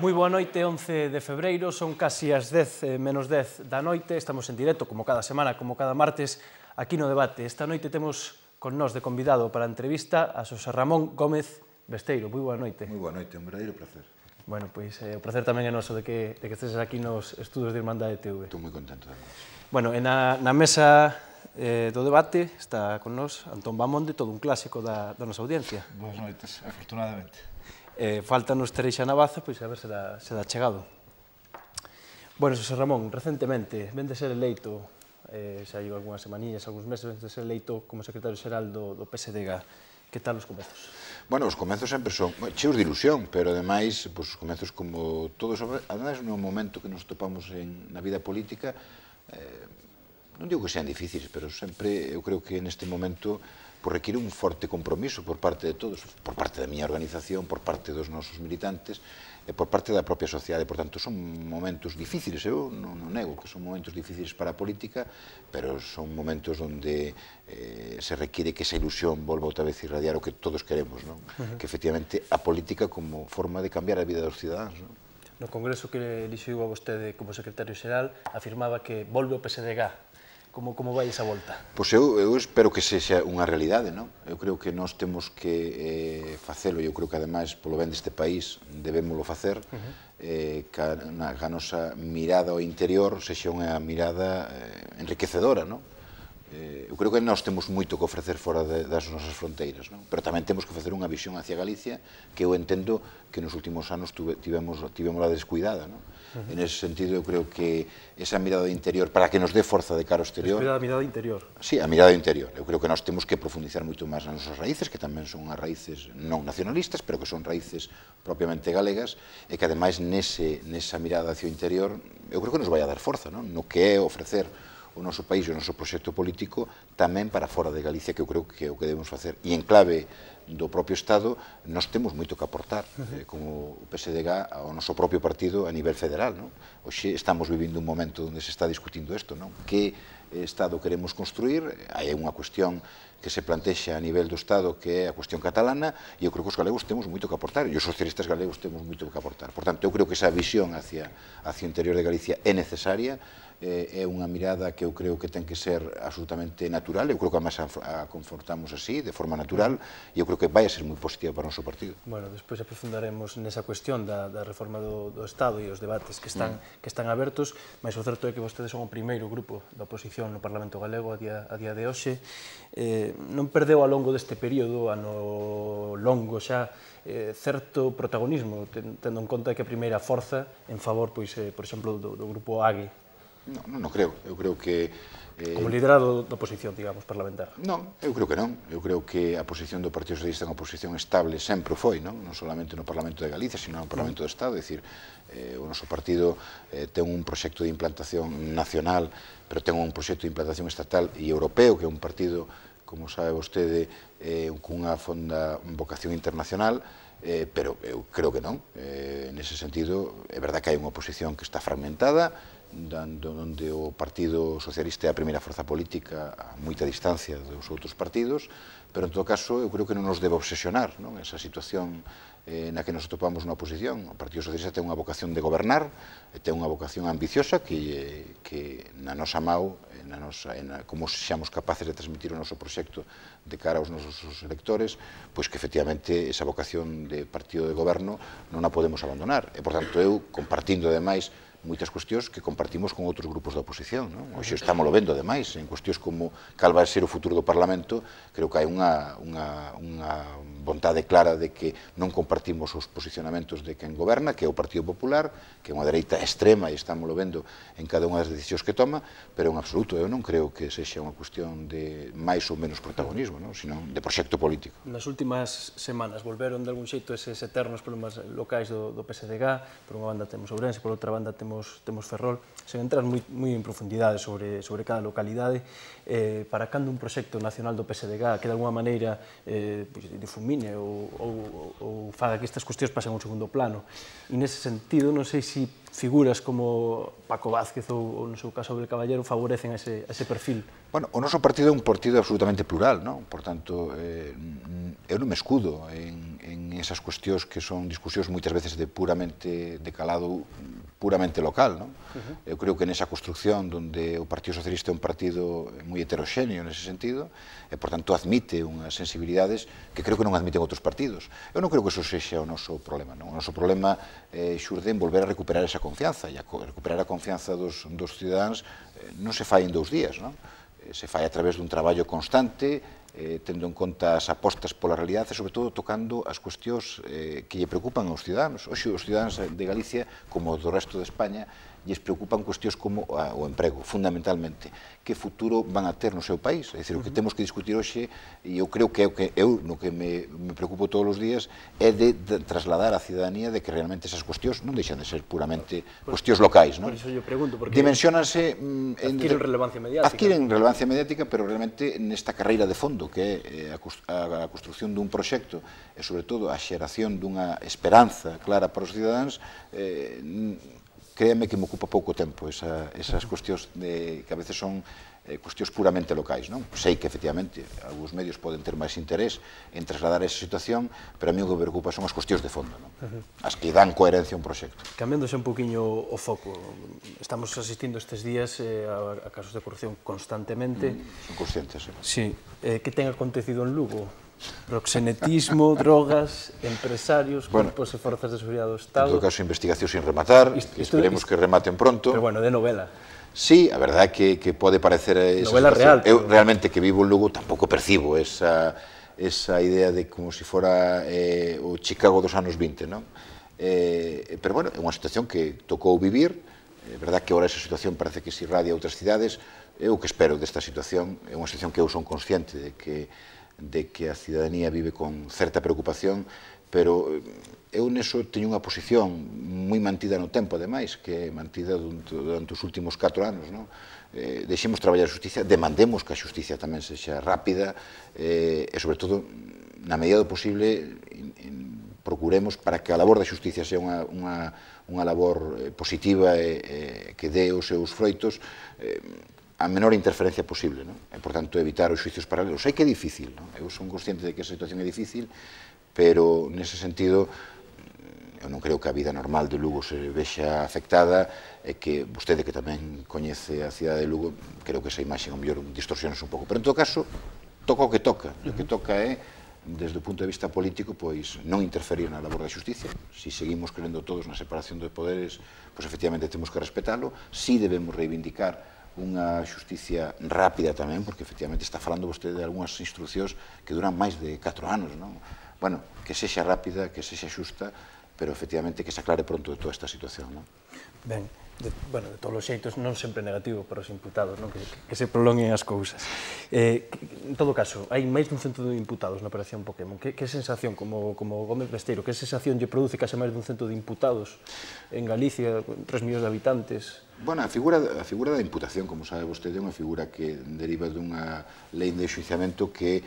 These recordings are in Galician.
Moi boa noite, 11 de febreiro, son casi as 10 menos 10 da noite, estamos en directo, como cada semana, como cada martes, aquí no debate. Esta noite temos con nós de convidado para a entrevista a Xosé Ramón Gómez Besteiro. Moi boa noite. Moi boa noite, un verdadeiro placer. Bueno, pois o placer tamén é noso de que estes aquí nos estudos de Irmandade TV. Estou moi contento de vos. Bueno, na mesa do debate está con nós Antón Bamonde, todo un clásico da nosa audiencia. Boas noites, afortunadamente. Faltanos Tereixa Navaza, pois a ver se dá chegado. Bueno, Xosé Ramón, recentemente, ven de ser eleito, xa hai algunhas semanillas, algúns meses, ven de ser eleito como secretario xeral do PSDG. Que tal os comezos? Bueno, os comezos sempre son cheos de ilusión, pero ademais, os comezos como todos, ademais no momento que nos topamos na vida política, non digo que sean difíciles, pero sempre eu creo que neste momento requiere un forte compromiso por parte de todos, por parte da miña organización, por parte dos nosos militantes, e por parte da propia sociedade. Por tanto, son momentos difíciles, eu non nego que son momentos difíciles para a política, pero son momentos onde se requiere que esa ilusión volva outra vez a irradiar o que todos queremos, que efectivamente a política como forma de cambiar a vida dos cidadáns. No congreso que elixiu a vostede como secretario xeral, afirmaba que volve o PSDG. Como vai esa volta? Pois eu espero que sexa unha realidade, non? Eu creo que nós temos que facelo, e eu creo que ademais, polo ben deste país, debémolo facer, que a nosa mirada ao interior sexa unha mirada enriquecedora, non? Eu creo que nós temos moito que ofrecer fora das nosas fronteiras, non? Pero tamén temos que facer unha visión hacia Galicia que eu entendo que nos últimos anos tivemos a descuidada, non? En ese sentido, eu creo que esa mirada interior, para que nos dé forza de cara ao exterior... Descuidada a mirada interior. Sí, a mirada interior. Eu creo que nós temos que profundizar moito máis nas nosas raíces, que tamén son as raíces non nacionalistas, pero que son raíces propiamente galegas, e que ademais nesa mirada hacia o interior, eu creo que nos vai a dar forza, non? No que é ofrecer o noso país e o noso proxecto político tamén para fora de Galicia, que eu creo que é o que debemos facer. E en clave do propio Estado, nós temos moito que aportar, como o PSDG, ao noso propio partido a nivel federal. Hoxe estamos vivindo un momento onde se está discutindo isto, que Estado queremos construir. Hai unha cuestión que se plantexa a nivel do Estado, que é a cuestión catalana, e eu creo que os galegos temos moito que aportar, e os socialistas galegos temos moito que aportar. Por tanto, eu creo que esa visión hacia o interior de Galicia é necesaria, é unha mirada que eu creo que ten que ser absolutamente natural, eu creo que además a confortamos así, de forma natural, e eu creo que vai a ser moi positiva para o noso partido. Bueno, despois aprofundaremos nesa cuestión da reforma do Estado e os debates que están abertos, mas o certo é que vostedes son o primeiro grupo da oposición no Parlamento Galego a día de hoxe. Non perdeu ao longo deste período, ano longo xa, certo protagonismo, tendo en conta que a primeira forza en favor, por exemplo, do grupo AGUE. Non creo, eu creo que... Como liderado da oposición, digamos, parlamentar. Non, eu creo que non. Eu creo que a posición do Partido Socialista é unha posición estable, sempre foi, non solamente no Parlamento de Galicia, sino no Parlamento do Estado. É dicir, o noso partido ten un proxecto de implantación nacional, pero ten un proxecto de implantación estatal e europeo, que é un partido, como sabe vostede, cunha fonda vocación internacional, pero eu creo que non. Nese sentido, é verdad que hai unha oposición que está fragmentada, onde o Partido Socialista é a primeira forza política a moita distancia dos outros partidos, pero en todo caso eu creo que non nos debe obsesionar esa situación na que nos atopamos na oposición. O Partido Socialista ten unha vocación de gobernar, ten unha vocación ambiciosa que na nosa mau, como sexamos capaces de transmitir o noso proxecto de cara aos nosos electores, pois que efectivamente esa vocación de partido de goberno non a podemos abandonar. E, por tanto, eu, compartindo ademais moitas cuestións que compartimos con outros grupos da oposición. Hoxe estamos vendo, ademais, en cuestións como cal vai ser o futuro do Parlamento, creo que hai unha vontade clara de que non compartimos os posicionamentos de quen goberna, que é o Partido Popular, que é unha dereita extrema e estámoslo vendo en cada unha das decisións que toma, pero en absoluto eu non creo que sexa unha cuestión de máis ou menos protagonismo, sino de proxecto político. Nas últimas semanas volveron de algún xeito eses eternos problemas locais do PSDG, por unha banda temos Ourense, por outra banda temos Ferrol, sen entrar moi en profundidade sobre cada localidade, para cando un proxecto nacional do PSDG que de alguma maneira difumine ou faga que estas cuestións pasen a un segundo plano. E nese sentido, non sei se figuras como Paco Vázquez ou, no seu caso, Abel Caballero favorecen ese perfil. Bueno, o noso partido é un partido absolutamente plural, non? Por tanto, eu non me escudo en esas cuestións que son discusións moitas veces de calado puramente local, non? Eu creo que nesa construcción donde o Partido Socialista é un partido moi heteroxéneo nese sentido, e, por tanto, admite unhas sensibilidades que creo que non admiten outros partidos. Eu non creo que eso sexa o noso problema, non? O noso problema xurde en volver a recuperar esa confianza, e a recuperar a confianza dos cidadáns non se fai en 2 días, non? Se fai a través dun traballo constante, tendo en conta as apostas pola realidade e, sobre todo, tocando as cuestións que lle preocupan aos cidadáns. Hoxe, os cidadáns de Galicia, como do resto de España, lles preocupan cuestións como o emprego, fundamentalmente. Que futuro van a ter no seu país? É dicir, o que temos que discutir hoxe, e eu creo que eu no que me preocupo todos os días, é de trasladar á cidadanía de que realmente esas cuestións non deixan de ser puramente cuestións locais. Por iso eu pregunto, porque dimensionanse... adquiren relevancia mediática. Adquiren relevancia mediática, pero realmente nesta carreira de fondo, que é a construción dun proxecto e, sobre todo, a xeración dunha esperanza clara para os cidadáns, créeme que me ocupa pouco tempo esas cuestións que a veces son cuestións puramente locais, non? Sei que, efectivamente, algúns medios poden ter máis interés en trasladar esa situación, pero a mí o que me preocupa son as cuestións de fondo, non? As que dan coherencia a un proxecto. Cambiándose un poquinho o foco, estamos asistindo estes días a casos de corrupción constantemente. Son conscientes, sí. Que ten acontecido en Lugo? Proxenetismo, drogas, empresarios, corpos e forzas de seguridade do Estado... En todo caso, investigación sin rematar, que esperemos que rematen pronto. Pero, bueno, de novela. Sí, a verdade é que pode parecer... Novela real. Eu, realmente, que vivo en Lugo, tampouco percibo esa idea de como se fora o Chicago dos anos 20, non? Pero, bueno, é unha situación que tocou vivir. É verdade que agora esa situación parece que se irradia a outras cidades. Eu o que espero desta situación é unha situación que eu son consciente de que a cidadanía vive con certa preocupación, pero eu neso teño unha posición moi mantida no tempo, ademais, que é mantida durante os últimos 4 anos, non? Deixemos traballar a xustiza, demandemos que a xustiza tamén sexa rápida e, sobre todo, na medida do posible, procuremos para que a labor da xustiza sea unha labor positiva e que dé os seus froitos a menor interferencia posible, non? E, por tanto, evitar os xuicios paralelos. Sei que é difícil, non? Eu son consciente de que esa situación é difícil, pero, nese sentido, eu non creo que a vida normal de Lugo se vexa afectada e que vostede, que tamén coñece a cidade de Lugo, creo que esa imaxe, ao mellor, distorsiones un pouco. Pero, en todo caso, toca o que toca. O que toca é, desde o punto de vista político, pois non interferir na labor da xusticia. Si seguimos crendo todos na separación de poderes, pois, efectivamente, temos que respetalo. Si debemos reivindicar unha xusticia rápida tamén, porque efectivamente está falando vostede de algunhas instruccións que duran máis de 4 anos, non? Bueno, que sexa rápida, que sexa xusta, pero efectivamente que se aclare pronto de toda esta situación, non? Ben, de todos os xeitos non sempre negativo para os imputados, non? Que se prolonguen as cousas. En todo caso, hai máis dun cento de imputados na operación Pokémon. Que sensación, como Gómez Besteiro, que sensación lle produce case máis dun cento de imputados en Galicia, 3 millóns de habitantes? Bueno, a figura da imputación, como sabe vostede, é unha figura que deriva dunha lei de enxuiciamento que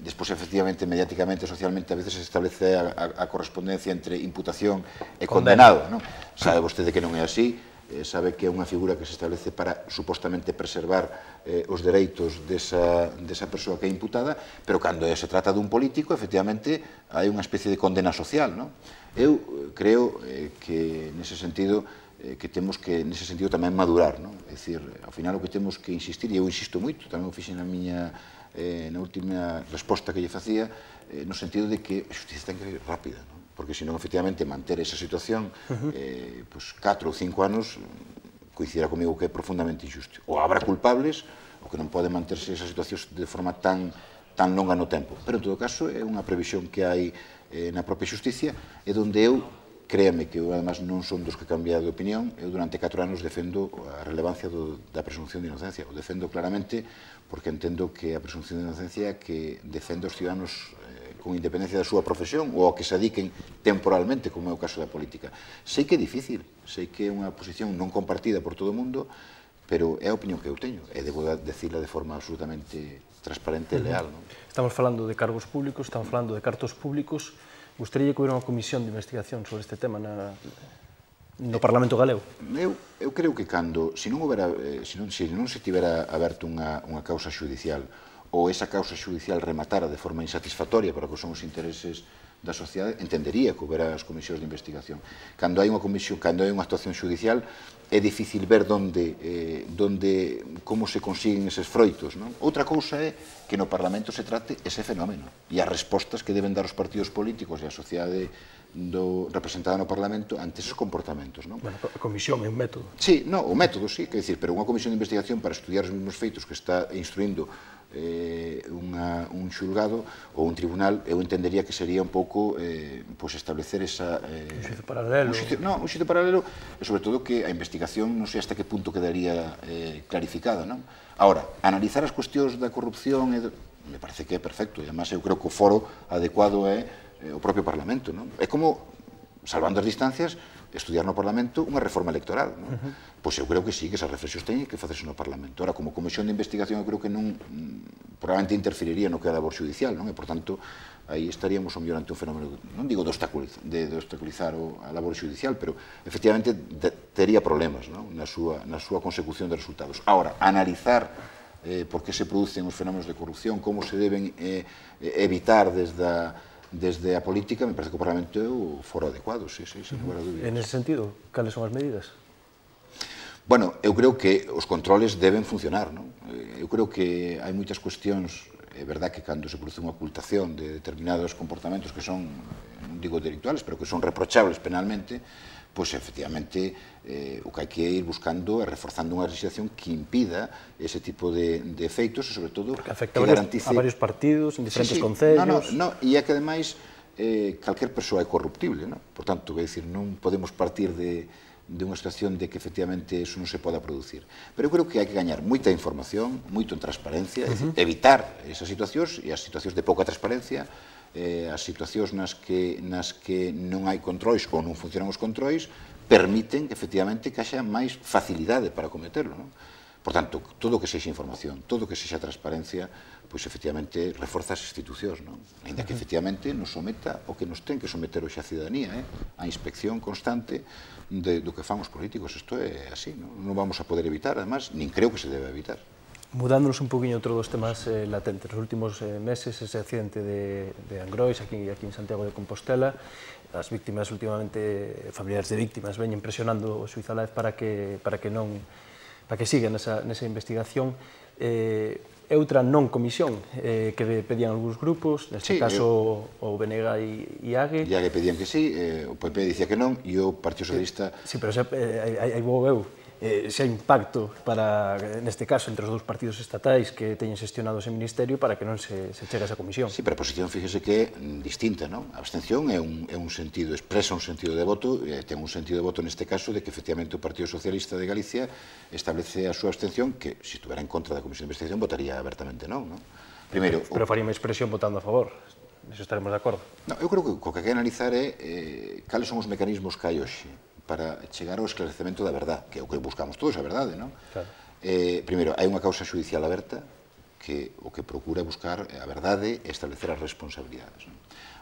despois, efectivamente, mediáticamente, socialmente, a veces se establece a correspondencia entre imputación e condenado, non? Sabe vostede que non é así, sabe que é unha figura que se establece para, supostamente, preservar os dereitos desa persoa que é imputada, pero cando se trata dun político, efectivamente, hai unha especie de condena social, non? Eu creo que, nese sentido, que temos que, nese sentido, tamén madurar, non? É dicir, ao final, o que temos que insistir, e eu insisto moito, tamén o fixen na última resposta que lle facía, no sentido de que a xustiza ten que ser rápida, non? Porque, senón, efectivamente, manter esa situación 4 ou 5 anos, coincidirá comigo que é profundamente injusto. Ou habrá culpables, o que non pode manterse esa situación de forma tan tan longa no tempo. Pero, en todo caso, é unha previsión que hai na propia xusticia e onde eu, créame que eu, además, non son dos que cambia de opinión, eu durante 4 anos defendo a relevancia da presunción de inocencia. O defendo claramente porque entendo que a presunción de inocencia que defende os ciudadanos con independencia da súa profesión ou a que se dediquen temporalmente, como é o caso da política. Sei que é difícil, sei que é unha posición non compartida por todo o mundo, pero é a opinión que eu teño e debo decirla de forma absolutamente transparente e leal. Estamos falando de cargos públicos, estamos falando de cartos públicos. Gustaría que hubiera unha comisión de investigación sobre este tema no Parlamento galego? Eu creo que se non se tivera aberto unha causa xudicial ou esa causa xudicial rematara de forma insatisfactoria para que son os intereses da sociedade, entendería que houbera as comisións de investigación. Cando hai unha comisión, cando hai unha actuación xudicial, é difícil ver como se consiguen eses froitos. Outra cousa é que no Parlamento se trate ese fenómeno e as respostas que deben dar os partidos políticos e a sociedade representada no Parlamento ante esos comportamentos. Bueno, a comisión é un método. Sí, o método, sí, quer dicir, pero unha comisión de investigación para estudiar os mesmos feitos que está instruindo un xulgado ou un tribunal, eu entendería que sería un pouco establecer esa... Un xuizo paralelo. Un xuizo paralelo, e sobre todo que a investigación non sei hasta que punto quedaría clarificada. Ahora, analizar as cuestións da corrupción me parece que é perfecto, e además eu creo que o foro adecuado é o propio Parlamento. É como, salvando as distancias, estudiar no Parlamento unha reforma electoral. Pois eu creo que sí, que esas reflexións teñen que facerse no Parlamento. Ahora, como comisión de investigación, eu creo que non probablemente interferiría no que é a labor judicial, e, por tanto, aí estaríamos ao mellor ante un fenómeno, non digo de obstaculizar a labor judicial, pero, efectivamente, tería problemas na súa consecución de resultados. Ahora, analizar por que se producen os fenómenos de corrupción, como se deben evitar desde a política, me parece que o Parlamento é o foro adecuado, sí, sin lugar a dúbidas. En ese sentido, cales son as medidas? Bueno, eu creo que os controles deben funcionar. Eu creo que hai moitas cuestións, é verdad que cando se produce unha ocultación de determinados comportamentos que son, non digo delictuales, pero que son reprochables penalmente, pois efectivamente o que hai que ir buscando é reforzando unha legislación que impida ese tipo de efeitos e, sobre todo, que a garantice... varios partidos, en diferentes concellos... E é que, ademais, calquer persoa é corruptible. Por tanto, non podemos partir de unha situación de que efectivamente eso non se poda producir. Pero eu creo que hai que gañar moita información, moito en transparencia, evitar esas situacións e as situacións de pouca transparencia, as situacións nas que non hai controis ou non funcionan os controis, permiten efectivamente que haxa máis facilidade para cometerlo. Por tanto, todo o que sexa información, todo o que sexa transparencia, pois efectivamente reforza as institucións, ainda que efectivamente nos someta o que nos ten que someter hoxe a cidadanía, a inspección constante do que fan os políticos. Isto é así, non vamos a poder evitar, además, nin creo que se debe evitar. Mudándonos un poquinho outro dos temas latentes, nos últimos meses, ese accidente de Angrois, aquí en Santiago de Compostela, as víctimas, últimamente, familiares de víctimas, veñen presionando o xuiz Aláez para que siga nesa investigación. Outra non comisión que pedían algúns grupos, neste caso o BNG e AGE. AGE pedían que sí, o PP dicía que non, e o Partido Socialista... Sí, pero aí vou eu. Se hai un pacto, neste caso, entre os dous partidos estatais que teñen xestionado ese ministerio para que non se chegue a esa comisión. Sí, pero a posición, fíjese que é distinta, non? A abstención é un sentido, expresa un sentido de voto, ten un sentido de voto neste caso de que, efectivamente, o Partido Socialista de Galicia establece a súa abstención que, se estuvera en contra da comisión de investigación, votaría abertamente non, non? Primeiro... Pero faría unha expresión votando a favor. Niso estaremos de acordo. Eu creo que o que hai que analizar é cales son os mecanismos que hai hoxe para chegar ao esclarecemento da verdade, que é o que buscamos todos, a verdade, non? Claro. Primeiro, hai unha causa judicial aberta que o que procura buscar a verdade e establecer as responsabilidades.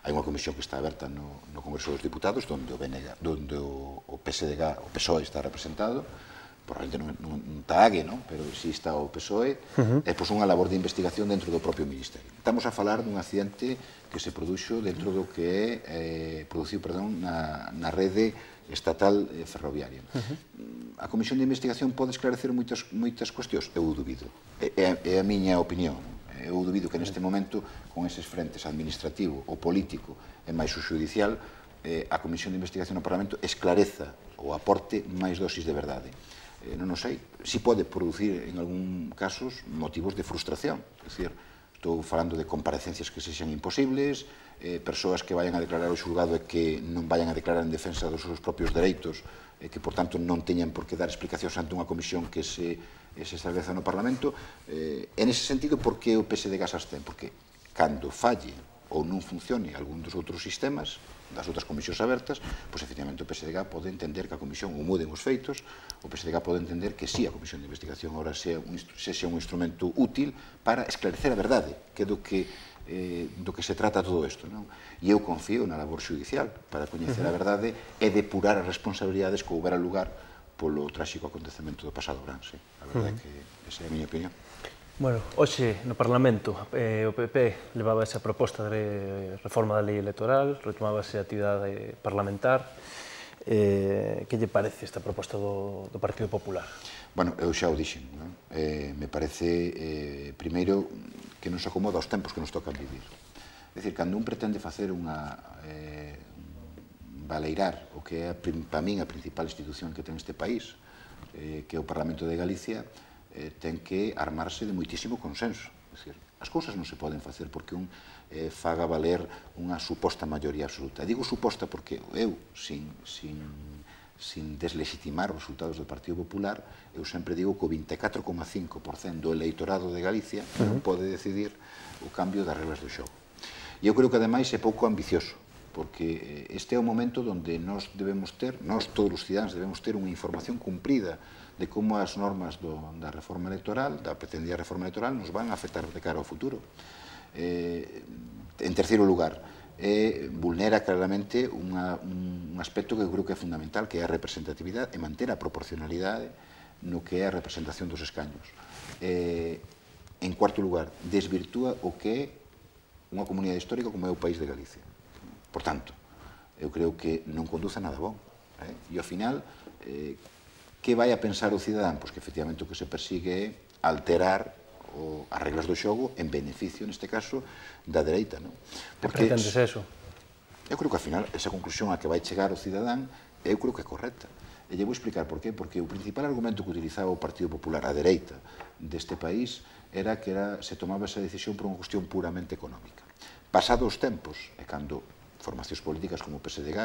Hai unha comisión que está aberta no Congreso dos Diputados, onde o PSDG, o PSOE está representado, probablemente non está AGE, pero si está o PSOE, é unha labor de investigación dentro do propio Ministerio. Estamos a falar dun accidente que se produxo dentro do que é na rede estatal ferroviaria. A Comisión de Investigación pode esclarecer moitas cuestións? Eu dubido. É a miña opinión. Eu dubido que neste momento, con eses frentes administrativo, o político e máis o judicial, a Comisión de Investigación no Parlamento esclareza ou aporte máis dosis de verdade. Non o sei. Si pode producir, en algún casos, motivos de frustración. É dicir, estou falando de comparecencias que sexan imposibles, persoas que vayan a declarar ao xulgado e que non vayan a declarar en defensa dos seus propios dereitos, que, por tanto, non teñan por que dar explicacións ante unha comisión que se estableza no Parlamento. En ese sentido, por que o PSDG se abstén? Porque cando falle ou non funcione algún dos outros sistemas, das outras comisións abertas, pois, efectivamente, o PSDG pode entender que a comisión ou muden os feitos, o PSDG pode entender que sí, a comisión de investigación ahora sexa un instrumento útil para esclarecer a verdade, que é do que se trata todo isto. E eu confío na labor judicial para coñecer a verdade e depurar as responsabilidades que houbera lugar polo tráxico acontecemento do pasado verán. A verdade é que esa é a miña opinión. Bueno, hoxe no Parlamento o PP levaba esa proposta de reforma da lei electoral, retomábase a actividade parlamentar. Que lle parece esta proposta do Partido Popular? Bueno, eu xa o dixen. Me parece, primeiro, que non se acomoda aos tempos que nos tocan vivir. É dicir, cando un pretende facer valeirar o que é, para min, a principal institución que ten este país, que é o Parlamento de Galicia, ten que armarse de moitísimo consenso. As cousas non se poden facer porque un faga valer unha suposta maioría absoluta. Digo suposta porque eu, sin deslegitimar os resultados do Partido Popular, eu sempre digo que o 24,5% do eleitorado de Galicia non pode decidir o cambio das reglas do xogo. E eu creo que, ademais, é pouco ambicioso, porque este é o momento onde nós todos os cidadáns debemos ter unha información cumprida de como as normas da reforma electoral, da pretendida reforma electoral, nos van a afectar de cara ao futuro. En terceiro lugar, vulnera claramente un aspecto que eu creo que é fundamental, que é a representatividade e manter a proporcionalidade no que é a representación dos escaños. En cuarto lugar, desvirtúa o que é unha comunidade histórica como é o país de Galicia. Por tanto, eu creo que non conduce a nada bom. E, ao final, que vai a pensar o cidadán? Pois que, efectivamente, o que se persigue é alterar as reglas do xogo en beneficio, neste caso, da dereita. Que pretendes eso? Eu creo que, ao final, esa conclusión a que vai chegar o cidadán, eu creo que é correcta. E lle vou explicar por qué. Porque o principal argumento que utilizaba o Partido Popular, a dereita deste país, era que se tomaba esa decisión por unha cuestión puramente económica. Pasados os tempos, e cando formacións políticas como o PSDG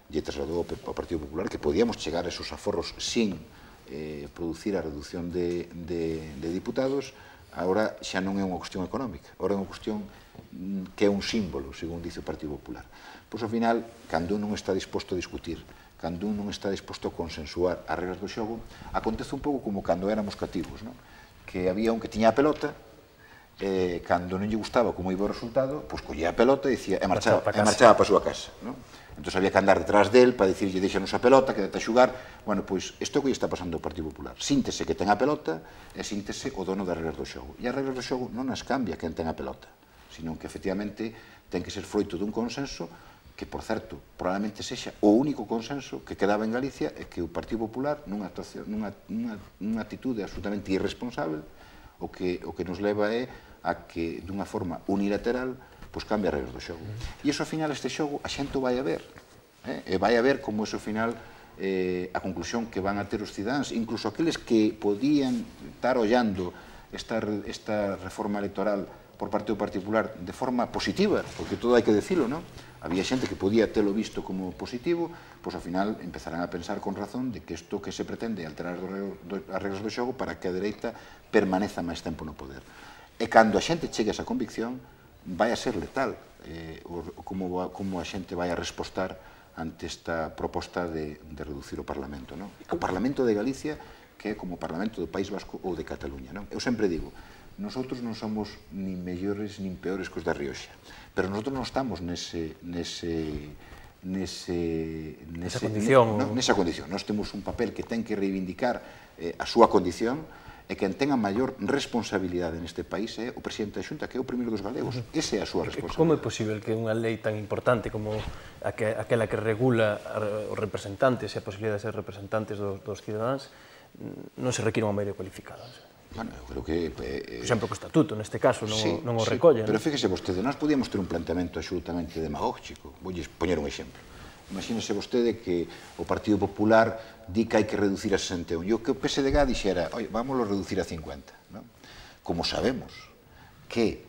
lle trasladou ao Partido Popular que podíamos chegar a esos aforros sin producir a reducción de diputados, agora xa non é unha cuestión económica, agora é unha cuestión que é un símbolo, según dice o Partido Popular. Pois, ao final, cando un non está disposto a discutir, cando un non está disposto a consensuar as reglas do xogo, acontece un pouco como cando éramos cativos, que había un que tiña a pelota, cando non lle gustaba como iba o resultado, pois collía a pelota e marchaba para a súa casa. Entón había que andar detrás del para dicirlle deixanos a pelota, quédate a xugar. Bueno, pois isto que lle está pasando ao Partido Popular. Síntese que ten a pelota e síntese o dono das reglas do xogo. E as reglas do xogo non as cambia quen ten a pelota, sino que, efectivamente, ten que ser froito dun consenso que, por certo, probablemente sexa o único consenso que quedaba en Galicia e que o Partido Popular, nunha actitude absolutamente irresponsable, o que nos leva é a que, dunha forma unilateral, pois cambia as regras do xogo. E iso, ao final, este xogo, a xente o vai a ver. E vai a ver como iso, ao final, a conclusión que van a ter os cidadáns, incluso aqueles que podían estar ollando esta reforma electoral por parte do Partido Popular de forma positiva, porque todo hai que decilo, non? Había xente que podía telo visto como positivo, pois, ao final, empezarán a pensar con razón de que isto que se pretende alterar as regras do xogo para que a dereita permaneza máis tempo no poder. E cando a xente chegue a esa convicción, vai a ser letal como a xente vai a respostar ante esta proposta de reducir o Parlamento. O Parlamento de Galicia, que é como o Parlamento do País Vasco ou de Cataluña. Eu sempre digo, nosotros non somos nin mellores nin peores que os da Rioxa, pero nosotros non estamos nesa condición. Nós temos un papel que ten que reivindicar a súa condición, e quen ten a maior responsabilidade neste país é o presidente da Xunta, que é o primeiro dos galegos. Esa é a súa responsabilidade. Como é posible que unha lei tan importante como aquela que regula os representantes e a posibilidade de ser representantes dos cidadáns non se require unha maioría cualificada? Bueno, eu creo que... Por exemplo, o estatuto, neste caso, non o recolle. Pero fíjese vostede, nós podíamos ter un planteamento absolutamente demagógico. Vou poñer un exemplo. Imagínese vostede que o Partido Popular di que hai que reducir a 61 e o que o PSDG dixera, vamos a reducir a 50. Como sabemos que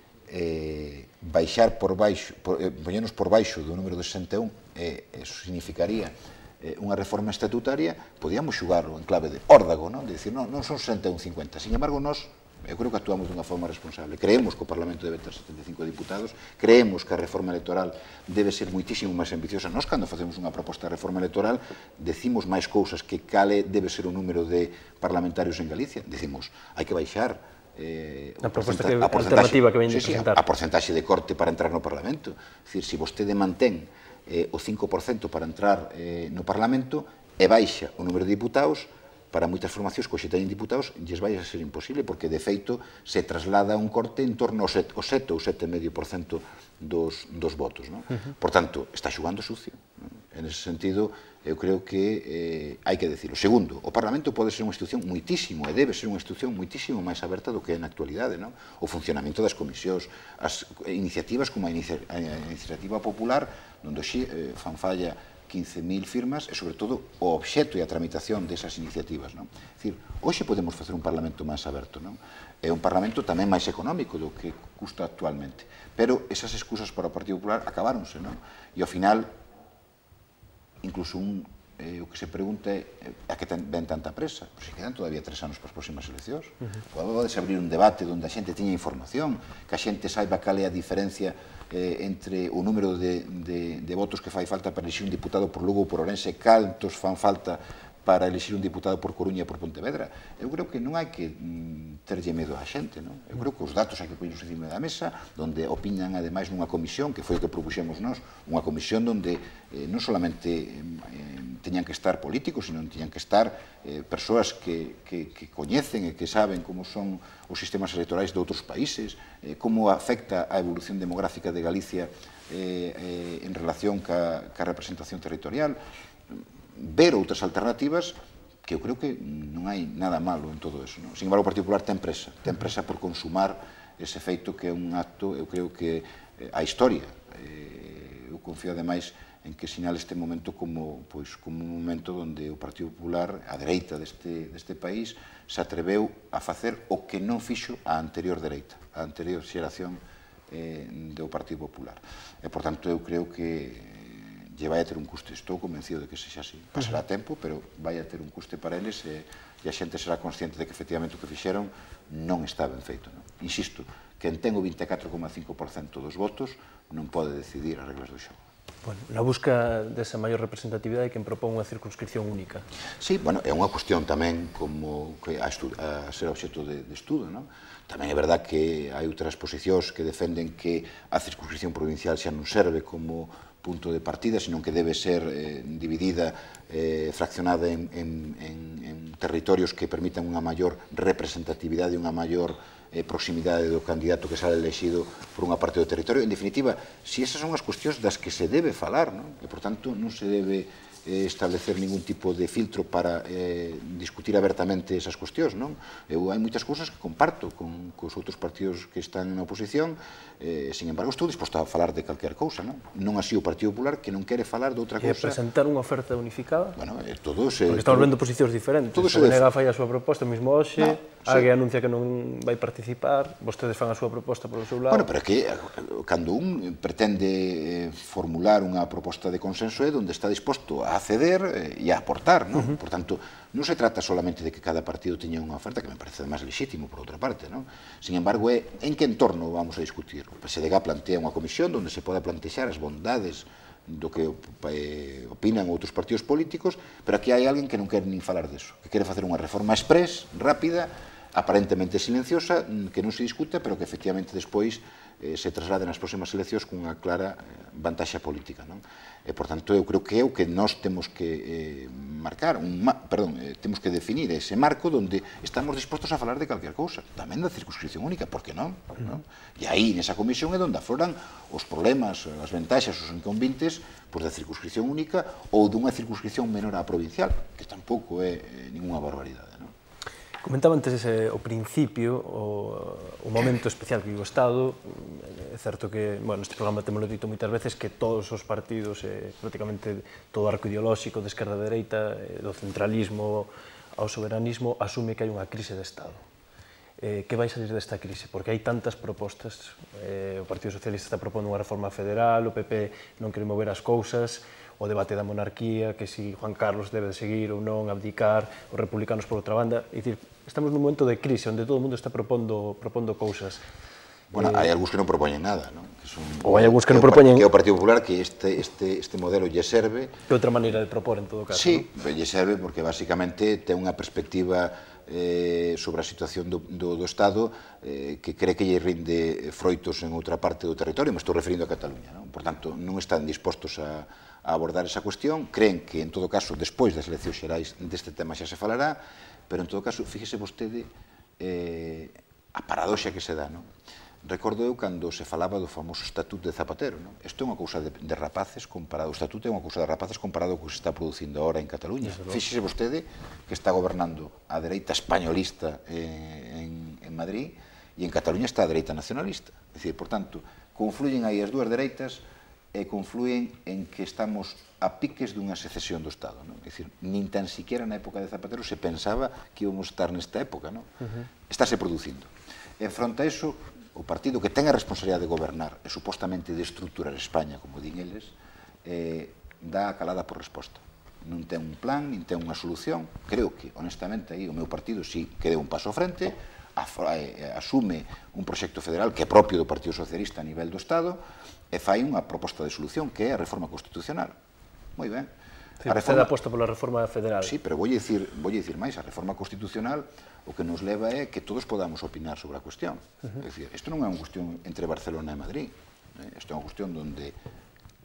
baixar por baixo, poñernos por baixo do número de 61, eso significaría unha reforma estatutaria, podíamos xugarlo en clave de órdago, non? De dicir, non son 61-50. Sin embargo, nós, eu creo que actuamos dunha forma responsable. Creemos que o Parlamento debe ter 75 diputados, creemos que a reforma electoral debe ser moitísimo máis ambiciosa. Nós, cando facemos unha proposta de reforma electoral, decimos máis cousas que cale debe ser o número de parlamentarios en Galicia. Decimos, hai que baixar a alternativa que ven de presentar. A porcentaxe de corte para entrar no Parlamento. É dicir, se vostede mantén o 5% para entrar no Parlamento e baixa o número de diputados, para moitas formacións que hoxe teñen diputados, lles vai a ser imposible, porque de feito se traslada un corte en torno ao 7 ou 7,5% dos votos. Por tanto, está xugando sucio. En ese sentido, eu creo que hai que decirlo. Segundo, o Parlamento pode ser unha institución moitísimo, e debe ser unha institución moitísimo máis aberta do que é na actualidade. O funcionamento das comisións, as iniciativas como a iniciativa popular, onde xe fan falla 15.000 firmas e, sobre todo, o obxecto e a tramitación desas iniciativas. É dicir, hoxe podemos facer un Parlamento máis aberto. É un Parlamento tamén máis económico do que custa actualmente. Pero esas excusas para o Partido Popular acabáronse. E, ao final, incluso o que se pregunta é a que ven tanta presa. Se quedan todavía 3 anos para as próximas eleccións. Podes abrir un debate onde a xente tiña información, que a xente saiba cal é a diferencia entre o número de votos que fai falta para elixir un diputado por Lugo ou por Ourense, cantos fan falta para elixir un diputado por Coruña e por Pontevedra. Eu creo que non hai que terlle medo á xente. Eu creo que os datos hai que poñerlos encima da mesa, onde opinan ademais nunha comisión, que foi o que propuxemos nós, unha comisión onde non solamente teñan que estar políticos, sino teñan que estar persoas que coñecen e que saben como son os sistemas electorais de outros países, como afecta a evolución demográfica de Galicia en relación ca representación territorial, ver outras alternativas, que eu creo que non hai nada malo en todo eso. Sin embargo, o Partido Popular ten presa por consumar ese feito que é un acto, eu creo que a historia, eu confío ademais en que sinale este momento como un momento onde o Partido Popular, a dereita deste país, se atreveu a facer o que non fixo a anterior dereita, a anterior xeración do Partido Popular. E, por tanto, eu creo que lle vai a ter un custe. Estou convencido de que sexa así. Pasará tempo, pero vai a ter un custe para eles e a xente será consciente de que efectivamente o que fixeron non está ben feito. Insisto, quen ten o 24,5% dos votos non pode decidir as reglas do xogo. Na busca desa maior representatividade, quen propón unha circunscripción única? Sí, é unha cuestión tamén como a ser obxecto de estudo. Tamén é verdad que hai outras posicións que defenden que a circunscripción provincial xa non serve como punto de partida, sino que debe ser dividida, fraccionada en territorios que permitan unha maior representatividade e unha maior proximidade do candidato que sale elexido por unha parte do territorio. En definitiva, si esas son as cuestións das que se debe falar, e, por tanto, non se debe establecer ningún tipo de filtro para discutir abertamente esas cuestións. Hai moitas cousas que comparto con os outros partidos que están na oposición, sin embargo, estou disposto a falar de calquer cousa. Non así o Partido Popular, que non quere falar de outra cousa. E presentar unha oferta unificada? Porque estamos vendo posicións diferentes. O BNG fai a súa proposta, mesmo hoxe, alguén anuncia que non vai participar, vostedes fan a súa proposta polo seu lado. Pero é que cando un pretende formular unha proposta de consenso é onde está disposto a ceder e a aportar. Por tanto, non se trata solamente de que cada partido teña unha oferta, que me parece máis legítimo, por outra parte. Sin embargo, é en que entorno vamos a discutir. O PSDG plantea unha comisión onde se poda plantexar as bondades do que opinan outros partidos políticos, pero aquí hai alguén que non quere nin falar deso, que quere facer unha reforma express, rápida, aparentemente silenciosa, que non se discuta, pero que efectivamente despois se traslade nas próximas eleccións con unha clara vantaxa política. E, por tanto, eu creo que é o que nós temos que marcar, temos que definir ese marco onde estamos dispostos a falar de calquer cousa, tamén da circunscripción única, por que non? E aí, nesa comisión, é onde afloran os problemas, as ventaxas, os inconvenientes da circunscripción única ou dunha circunscripción menor á provincial, que tampouco é ninguna barbaridade. Comentaba antes o principio, o momento especial que vive o Estado. É certo que, neste programa temos dito moitas veces que todos os partidos, prácticamente todo o arco ideolóxico de esquerda a dereita, do centralismo ao soberanismo, asume que hai unha crise de Estado. que vai salir desta crise? Porque hai tantas propostas, o Partido Socialista está propondo unha reforma federal, o PP non quere mover as cousas, o debate da monarquía, que si Juan Carlos debe de seguir ou non, abdicar, os republicanos por outra banda. É dicir, estamos nun momento de crise onde todo o mundo está propondo cousas. Bueno, hai algúns que non propoñen nada, non? Ou hai algúns que non propoñen... Que é o Partido Popular, que este modelo lle serve... Que outra maneira de propor, en todo caso. Sí, lle serve porque, basicamente, ten unha perspectiva sobre a situación do Estado que cree que lle rinde froitos en outra parte do territorio, me estou referindo a Cataluña, non? Por tanto, non están dispostos a abordar esa cuestión, creen que, en todo caso, despois das eleccións xerais deste tema xa se falará, pero, en todo caso, fíxese vostede a paradoxa que se dá, non? Recordo eu cando se falaba do famoso Estatuto de Zapatero, non? Isto é unha cousa de rapaces comparado, o Estatuto é unha cousa de rapaces comparado co que se está producindo ahora en Cataluña. Fíxese vostede que está gobernando a dereita españolista en Madrid e en Cataluña está a dereita nacionalista. É dicir, por tanto, confluyen aí as dúas dereitas e confluyen en que estamos a piques dunha secesión do Estado, non? É dicir, nin tan siquiera na época de Zapatero se pensaba que íbamos a estar nesta época, non? Estáse producindo. En fronte a iso, o partido que ten a responsabilidade de gobernar e supostamente de estruturar España, como din eles, dá a calada por resposta. Non ten un plan, nin ten unha solución. Creo que, honestamente, aí o meu partido sí que deu un paso ao frente, asume un proxecto federal que é propio do Partido Socialista a nivel do Estado e fai unha proposta de solución que é a reforma constitucional. Moi ben. Vostede aposta pola reforma federal. Sí, pero voulle dicir máis, a reforma constitucional o que nos leva é que todos podamos opinar sobre a cuestión. É dicir, isto non é unha cuestión entre Barcelona e Madrid. Isto é unha cuestión onde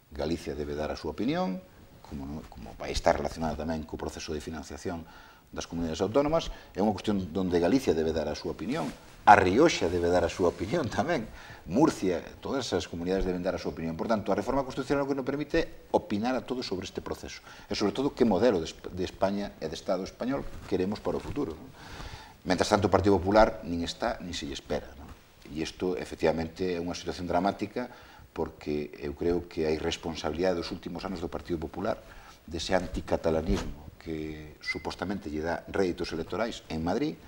Galicia debe dar a súa opinión, como vai estar relacionada tamén co proceso de financiación das comunidades autónomas, é unha cuestión onde Galicia debe dar a súa opinión, a Rioxa debe dar a súa opinión tamén, Murcia, todas esas comunidades deben dar a súa opinión. Por tanto, a reforma constitucional o que nos permite é opinar a todos sobre este proceso e, sobre todo, que modelo de España e de Estado español queremos para o futuro. Mentras tanto, o Partido Popular nin está, nin se lle espera. E isto, efectivamente, é unha situación dramática porque eu creo que a irresponsabilidade dos últimos anos do Partido Popular, dese anticatalanismo que supostamente lle dá réditos electorais en Madrid,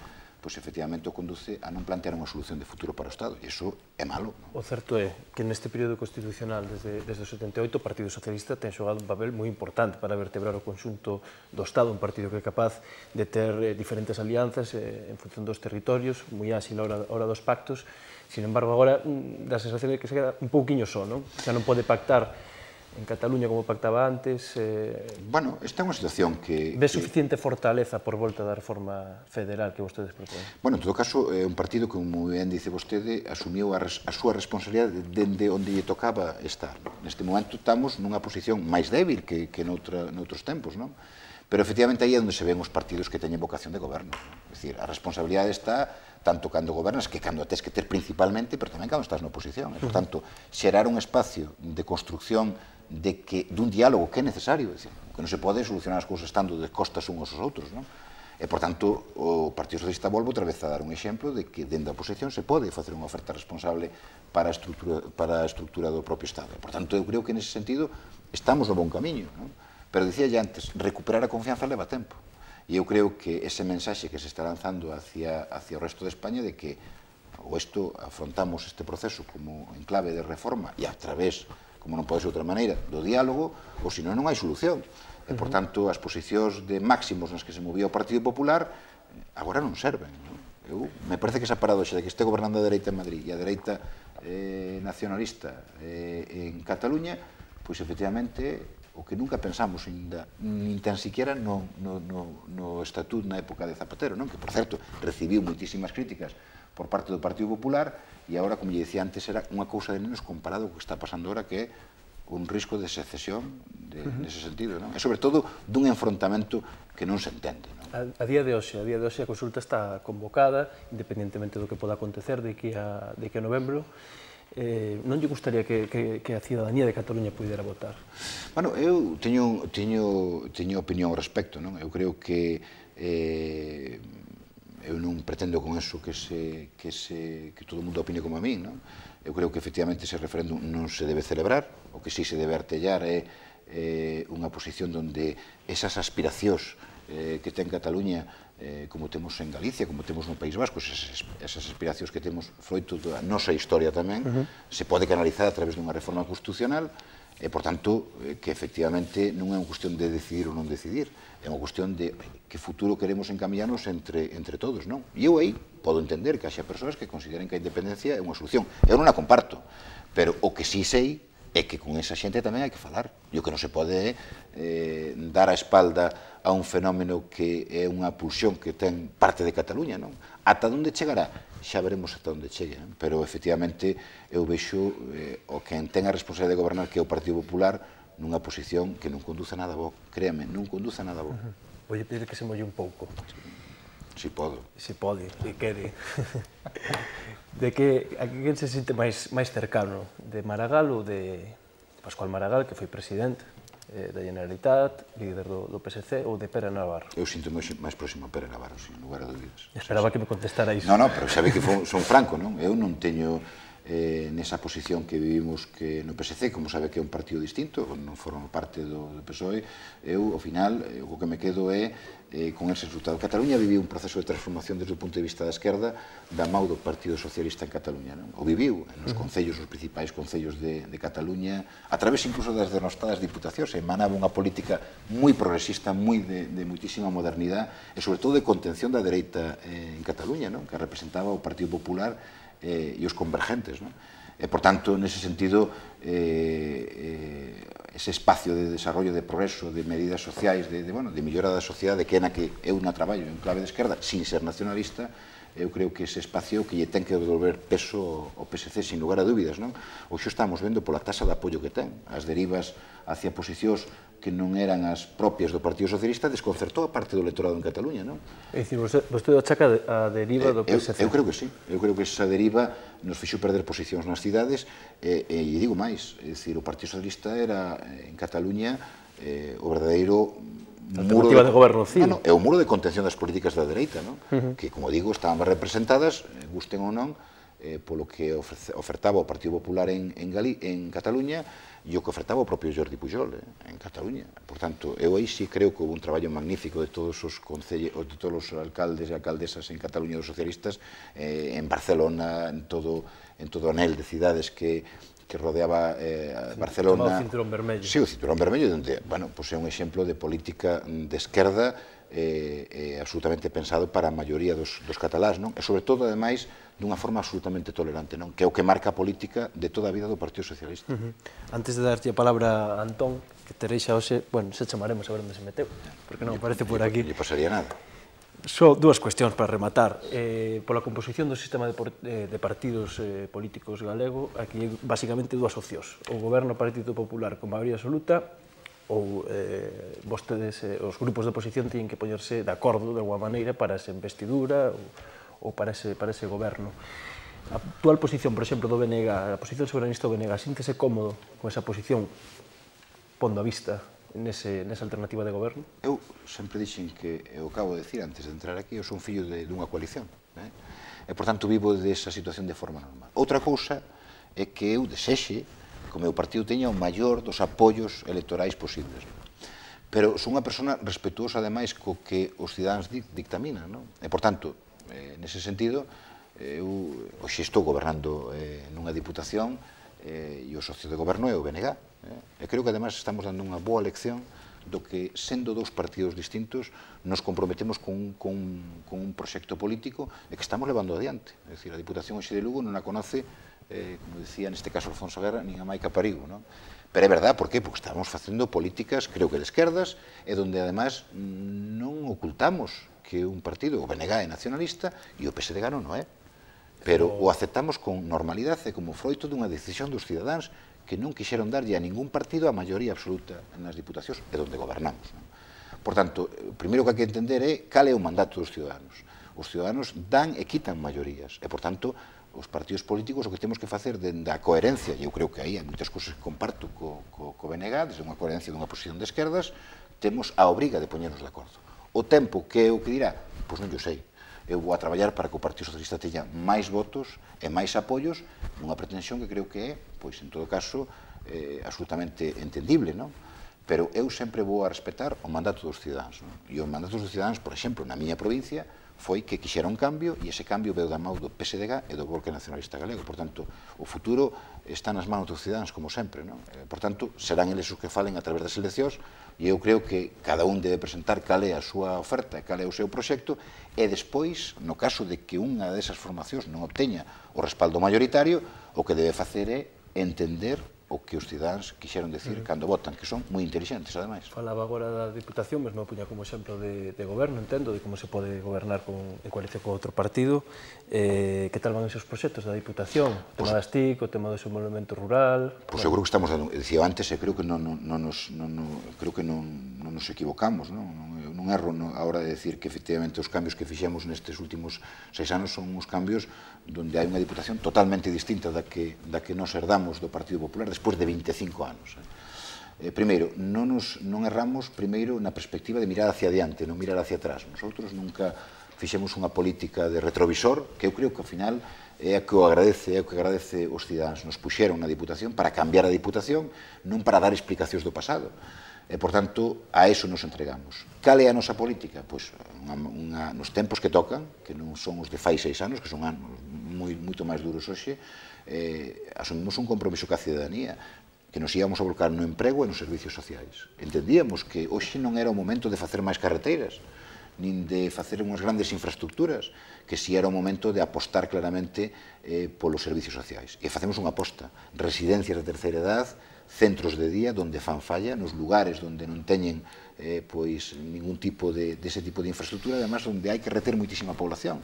pois efectivamente o conduce a non plantear unha solución de futuro para o Estado, e iso é malo. O certo é que neste período constitucional, desde o 78, o Partido Socialista ten xogado un papel moi importante para vertebrar o conxunto do Estado, un partido que é capaz de ter diferentes alianzas en función dos territorios, moi áxil a hora dos pactos. Sin embargo, agora dá a sensación de que se queda un pouquiño só, non? Xa non pode pactar en Cataluña como pactaba antes. Bueno, esta é unha situación que... Ve suficiente fortaleza por volta da reforma federal que vostedes proponen? Bueno, en todo caso, é un partido que, como ben dice vostede, asumiu a súa responsabilidade dende onde lle tocaba estar. Neste momento estamos nunha posición máis débil que noutros tempos, non? Pero, efectivamente, aí é onde se ven os partidos que teñen vocación de goberno. É dicir, a responsabilidade está tanto cando gobernas que cando a tes que ter principalmente, pero tamén cando estás na oposición. Por tanto, xerar un espacio de construcción dun diálogo que é necesario, que non se pode solucionar as cousas estando de costas uns aos outros, non? E, por tanto, o Partido Socialista volve outra vez a dar un exemplo de que dende a oposición se pode facer unha oferta responsable para a estrutura do propio Estado. Por tanto, eu creo que nese sentido estamos no bon camiño, non? Pero dicía ya antes, recuperar a confianza leva tempo. E eu creo que ese mensaxe que se está lanzando hacia o resto de España de que afrontamos este proceso como en clave de reforma e a través, como non pode ser de outra maneira, do diálogo, ou senón non hai solución. E, por tanto, as posicións de máximos nas que se movía o Partido Popular agora non serven. Me parece que esa paradoxa de que este gobernando a dereita en Madrid e a dereita nacionalista en Cataluña, pois, efectivamente, o que nunca pensamos nin tan siquiera no Estatuto na época de Zapatero, que, por certo, recibiu moitísimas críticas por parte do Partido Popular e agora, como lle dicía antes, era unha cousa de menos comparado co que está pasando agora, que é un risco de secesión nese sentido, e, sobre todo, dun enfrontamento que non se entende. A día de hoxe a consulta está convocada, independentemente do que poda acontecer de que a novembro. Non lle gustaría que a cidadanía de Cataluña pudera votar? Bueno, eu teño opinión ao respecto. Eu creo que eu non pretendo con eso que todo o mundo opine como a min. Eu creo que, efectivamente, ese referéndum non se debe celebrar. O que sí se debe artellar é unha posición onde esas aspiracións que ten Cataluña, como temos en Galicia, como temos no País Vasco, esas aspiracións que temos froito da nosa historia tamén, se pode canalizar a través dunha reforma constitucional, e, por tanto, que efectivamente non é unha cuestión de decidir ou non decidir, é unha cuestión de que futuro queremos encamiñarnos entre todos, non? E eu aí podo entender que haxa persoas que consideren que a independencia é unha solución. Eu non a comparto, pero o que sí sei é que con esa xente tamén hai que falar. E o que non se pode é dar a espalda a un fenómeno que é unha pulsión que ten parte de Cataluña, non? Ata onde chegará? Xa veremos ata onde chegue, non? Pero, efectivamente, eu vexo o que ten a responsabilidade de gobernar, que é o Partido Popular, nunha posición que non conduce a nada bo. Créame, non conduce a nada bo. Voulle pedir que se molle un pouco. Si podo. Se pode, e quere. De que a quen se sente máis cercano? De Maragall ou de Pascual Maragall, que foi presidente da Generalitat, líder do PSC, ou de Pere Navarro? Eu sinto máis próximo a Pere Navarro, sin lugar a dúbidas. Esperaba que me contestara iso. Non, pero sabe que son franco, non? Eu non teño nesa posición que vivimos que no PSC, como sabe que é un partido distinto, non forma parte do PSOE, eu, ao final, o que me quedo é con ese resultado. Cataluña viviu un proceso de transformación desde o punto de vista da esquerda da mau do Partido Socialista en Cataluña, non? O viviu nos concellos, os principais concellos de Cataluña, a través incluso das denostadas diputacións, emanaba unha política moi progresista, moi de muitísima modernidade, e sobre todo de contención da dereita en Cataluña, non? Que representaba o Partido Popular e os convergentes, non? E, por tanto, nese sentido, ese espacio de desarrollo, de progreso, de medidas sociais, de mellora da sociedade, que é na que eu na traballo en clave de esquerda, sin ser nacionalista, eu creo que ese espacio que lle ten que devolver peso ao PSC, sin lugar a dúbidas, non? Hoxe estamos vendo pola taxa de apoio que ten, as derivas hacia posicións que non eran as propias do Partido Socialista, desconcertou a parte do electorado en Cataluña, non? É dicir, vostede achaca a deriva do PSC? Eu creo que sí, eu creo que esa deriva nos fixo perder posicións nas cidades, e digo máis, é dicir, o Partido Socialista era en Cataluña o verdadeiro alternativa de goberno, sí. É o muro de contención das políticas da dereita, non? Que, como digo, estaban representadas, gusten ou non, polo que ofertaba o Partido Popular en Cataluña e o que ofertaba o propio Jordi Pujol en Cataluña. Por tanto, eu aí sí creo que houve un traballo magnífico de todos os alcaldes e alcaldesas en Cataluña dos socialistas, en Barcelona, en todo o anel de cidades que rodeaba Barcelona. O cinturón vermello. Sí, o cinturón vermello, onde, bueno, é un exemplo de política de esquerda absolutamente pensado para a maioría dos catalás, non? E, sobre todo, ademais, dunha forma absolutamente tolerante, non? Que é o que marca a política de toda a vida do Partido Socialista. Antes de darlle a palabra a Antón, que teréis xa hoxe, bueno, se chamaremos a ver onde se meteu, porque non aparece por aquí. Non lle pasaría nada. Só dúas cuestións para rematar. Pola composición do sistema de partidos políticos galego, aquí hai basicamente dúas opcións. O goberno Partido Popular con maioría absoluta, ou vostedes, os grupos de oposición, teñen que poñerse de acordo de alguma maneira para esa investidura ou para ese goberno. A actual posición, por exemplo, do BNG, a posición soberanista do BNG, síntese cómodo con esa posición, pondo a vista nesa alternativa de goberno? Eu sempre dixen que, eu acabo de decir antes de entrar aquí, eu son fillo dunha coalición, e, por tanto, vivo desa situación de forma normal. Outra cousa é que eu desexe que o meu partido teña o maior dos apoios electorais posibles. Pero son unha persona respetuosa, ademais, co que os cidadáns dictaminan, non? E, por tanto, nese sentido, eu hoxe estou gobernando nunha diputación e o socio de goberno é o BNG. E creo que, ademais, estamos dando unha boa lección do que, sendo dous partidos distintos, nos comprometemos con un proxecto político e que estamos levando adiante. É dicir, a Diputación hoxe de Lugo non a conoce, como decía neste caso Alfonso Guerra, nin a Maica Parigo, non? Pero é verdad, por qué? Porque estamos facendo políticas, creo que de esquerdas, e donde, además, non ocultamos que un partido, o BNG, é nacionalista e o PSDG non é. Pero o aceptamos con normalidade e como froito dunha decisión dos cidadáns que non quixeron darlle a ningún partido a maioría absoluta nas diputacións e donde gobernamos. Por tanto, o primeiro que hai que entender é cal é o mandato dos ciudadanos. Os ciudadanos dan e quitan maiorías e, por tanto, os partidos políticos o que temos que facer dende a coherencia, e eu creo que aí hai moitas cousas que comparto co BNG, desde unha coherencia dunha posición de esquerdas, temos a obriga de poñernos de acordo. O tempo que é o que dirá, pois non yo sei. Eu vou a traballar para que o Partido Socialista teña máis votos e máis apoios nunha pretensión que creo que é, pois, en todo caso, absolutamente entendible, non? pero eu sempre vou a respetar o mandato dos cidadáns. E o mandato dos cidadáns, por exemplo, na miña provincia, foi que quixera un cambio e ese cambio veu da mão do PSDG e do Bloque Nacionalista Galego. Por tanto, o futuro está nas mãos dos cidadáns, como sempre. Por tanto, serán eles os que falen a través das eleccións e eu creo que cada un debe presentar cal é a súa oferta, cal é o seu proxecto e despois, no caso de que unha desas formacións non obteña o respaldo mayoritario, o que debe facer é entender o que os cidadáns quixeron decir cando votan, que son moi intelixentes, ademais. Falaba agora da Diputación, mesmo puña como exemplo de goberno, entendo, de como se pode gobernar en coalición con outro partido. Que tal van esos proxectos da Diputación? O tema das TIC, o tema do desenvolvemento rural... Pois eu creo que estamos dando, dicía antes, creo que non nos equivocamos, non erro a hora de decir que efectivamente os cambios que fixemos nestes últimos 6 anos son uns cambios donde hai unha Diputación totalmente distinta da que nos herdamos do Partido Popular despois de 25 anos. Primeiro, non erramos primeiro na perspectiva de mirar hacia adiante, non mirar hacia atrás. Nosotros nunca fixemos unha política de retrovisor, que eu creo que ao final é o que agradece os cidadáns. Nos puxeron na Diputación para cambiar a Diputación, non para dar explicacións do pasado. E, por tanto, a eso nos entregamos. Cal é a nosa política? Pois, nos tempos que tocan, que non son os de fai 6 anos, que son anos moito máis duros hoxe, asumimos un compromiso ca cidadanía, que nos íamos a volcar no emprego e nos servicios sociais. Entendíamos que hoxe non era o momento de facer máis carreteiras, nin de facer unhas grandes infraestructuras, que si era o momento de apostar claramente polos servicios sociais. E facemos unha aposta. Residencias de terceira edad, centros de día donde fan falla, nos lugares onde non teñen ningún tipo dese tipo de infraestructura, además onde hai que reter moitísima población.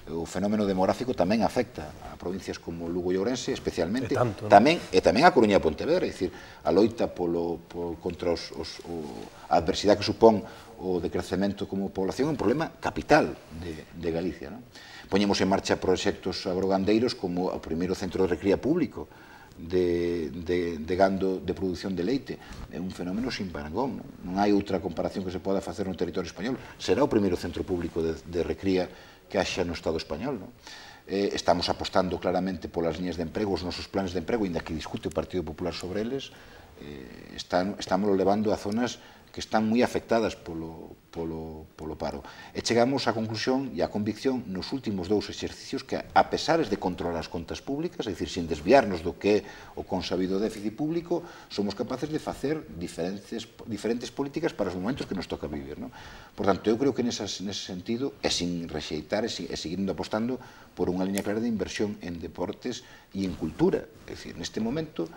O fenómeno demográfico tamén afecta a provincias como Lugo e Ourense, especialmente, tamén a Coruña e Pontevedra, é dicir, a loita contra a adversidade que supón o decrecemento como población é un problema capital de Galicia. Poñemos en marcha proxectos agrogandeiros como o primeiro centro de recría público de gando de produción de leite. É un fenómeno sin parangón. Non hai outra comparación que se poda facer no territorio español. Será o primeiro centro público de recría que haxa no Estado español. Estamos apostando claramente polas liñas de emprego, os nosos planes de emprego, inda que discute o Partido Popular sobre eles, estamos levando a zonas que están moi afectadas polo paro. E chegamos á conclusión e á convicción nos últimos 2 exercicios que, a pesares de controlar as contas públicas, é dicir, sin desviarnos do que é o consabido déficit público, somos capaces de facer diferentes políticas para os momentos que nos toca vivir. Por tanto, eu creo que nese sentido, e sin rexeitar e seguindo apostando por unha liña clara de inversión en deportes e en cultura. É dicir, neste momento,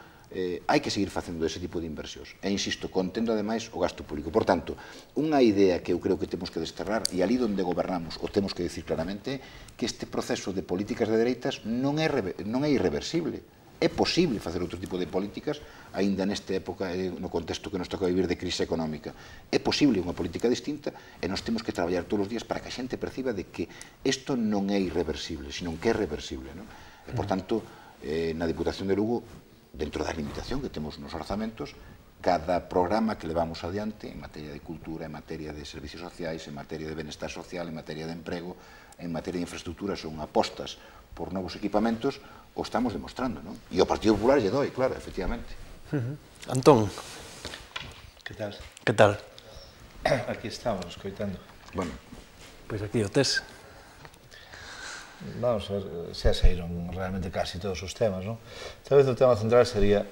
hai que seguir facendo ese tipo de inversións. E, insisto, contendo, ademais, o gasto público. Por tanto, unha idea que eu creo que temos que desterrar, e ali onde gobernamos o temos que decir claramente, que este proceso de políticas de dereitas non é irreversible. É posible facer outro tipo de políticas, aínda nesta época, no contexto que nos toca vivir de crise económica. É posible unha política distinta e nós temos que traballar todos os días para que a xente perciba de que isto non é irreversible, sino que é reversible. E, por tanto, na Diputación de Lugo, dentro da limitación que temos nos orzamentos, cada programa que levamos adiante en materia de cultura, en materia de servicios sociais, en materia de benestar social, en materia de emprego, en materia de infraestructuras ou apostas por novos equipamentos, o estamos demostrando, non? E o Partido Popular lle doi, claro, efectivamente. Antón. Que tal? Que tal? Aquí estamos, escoitando. Bueno. Pois aquí o tes. Vamos a ver, xa saíron realmente casi todos os temas, non? Talvez o tema central sería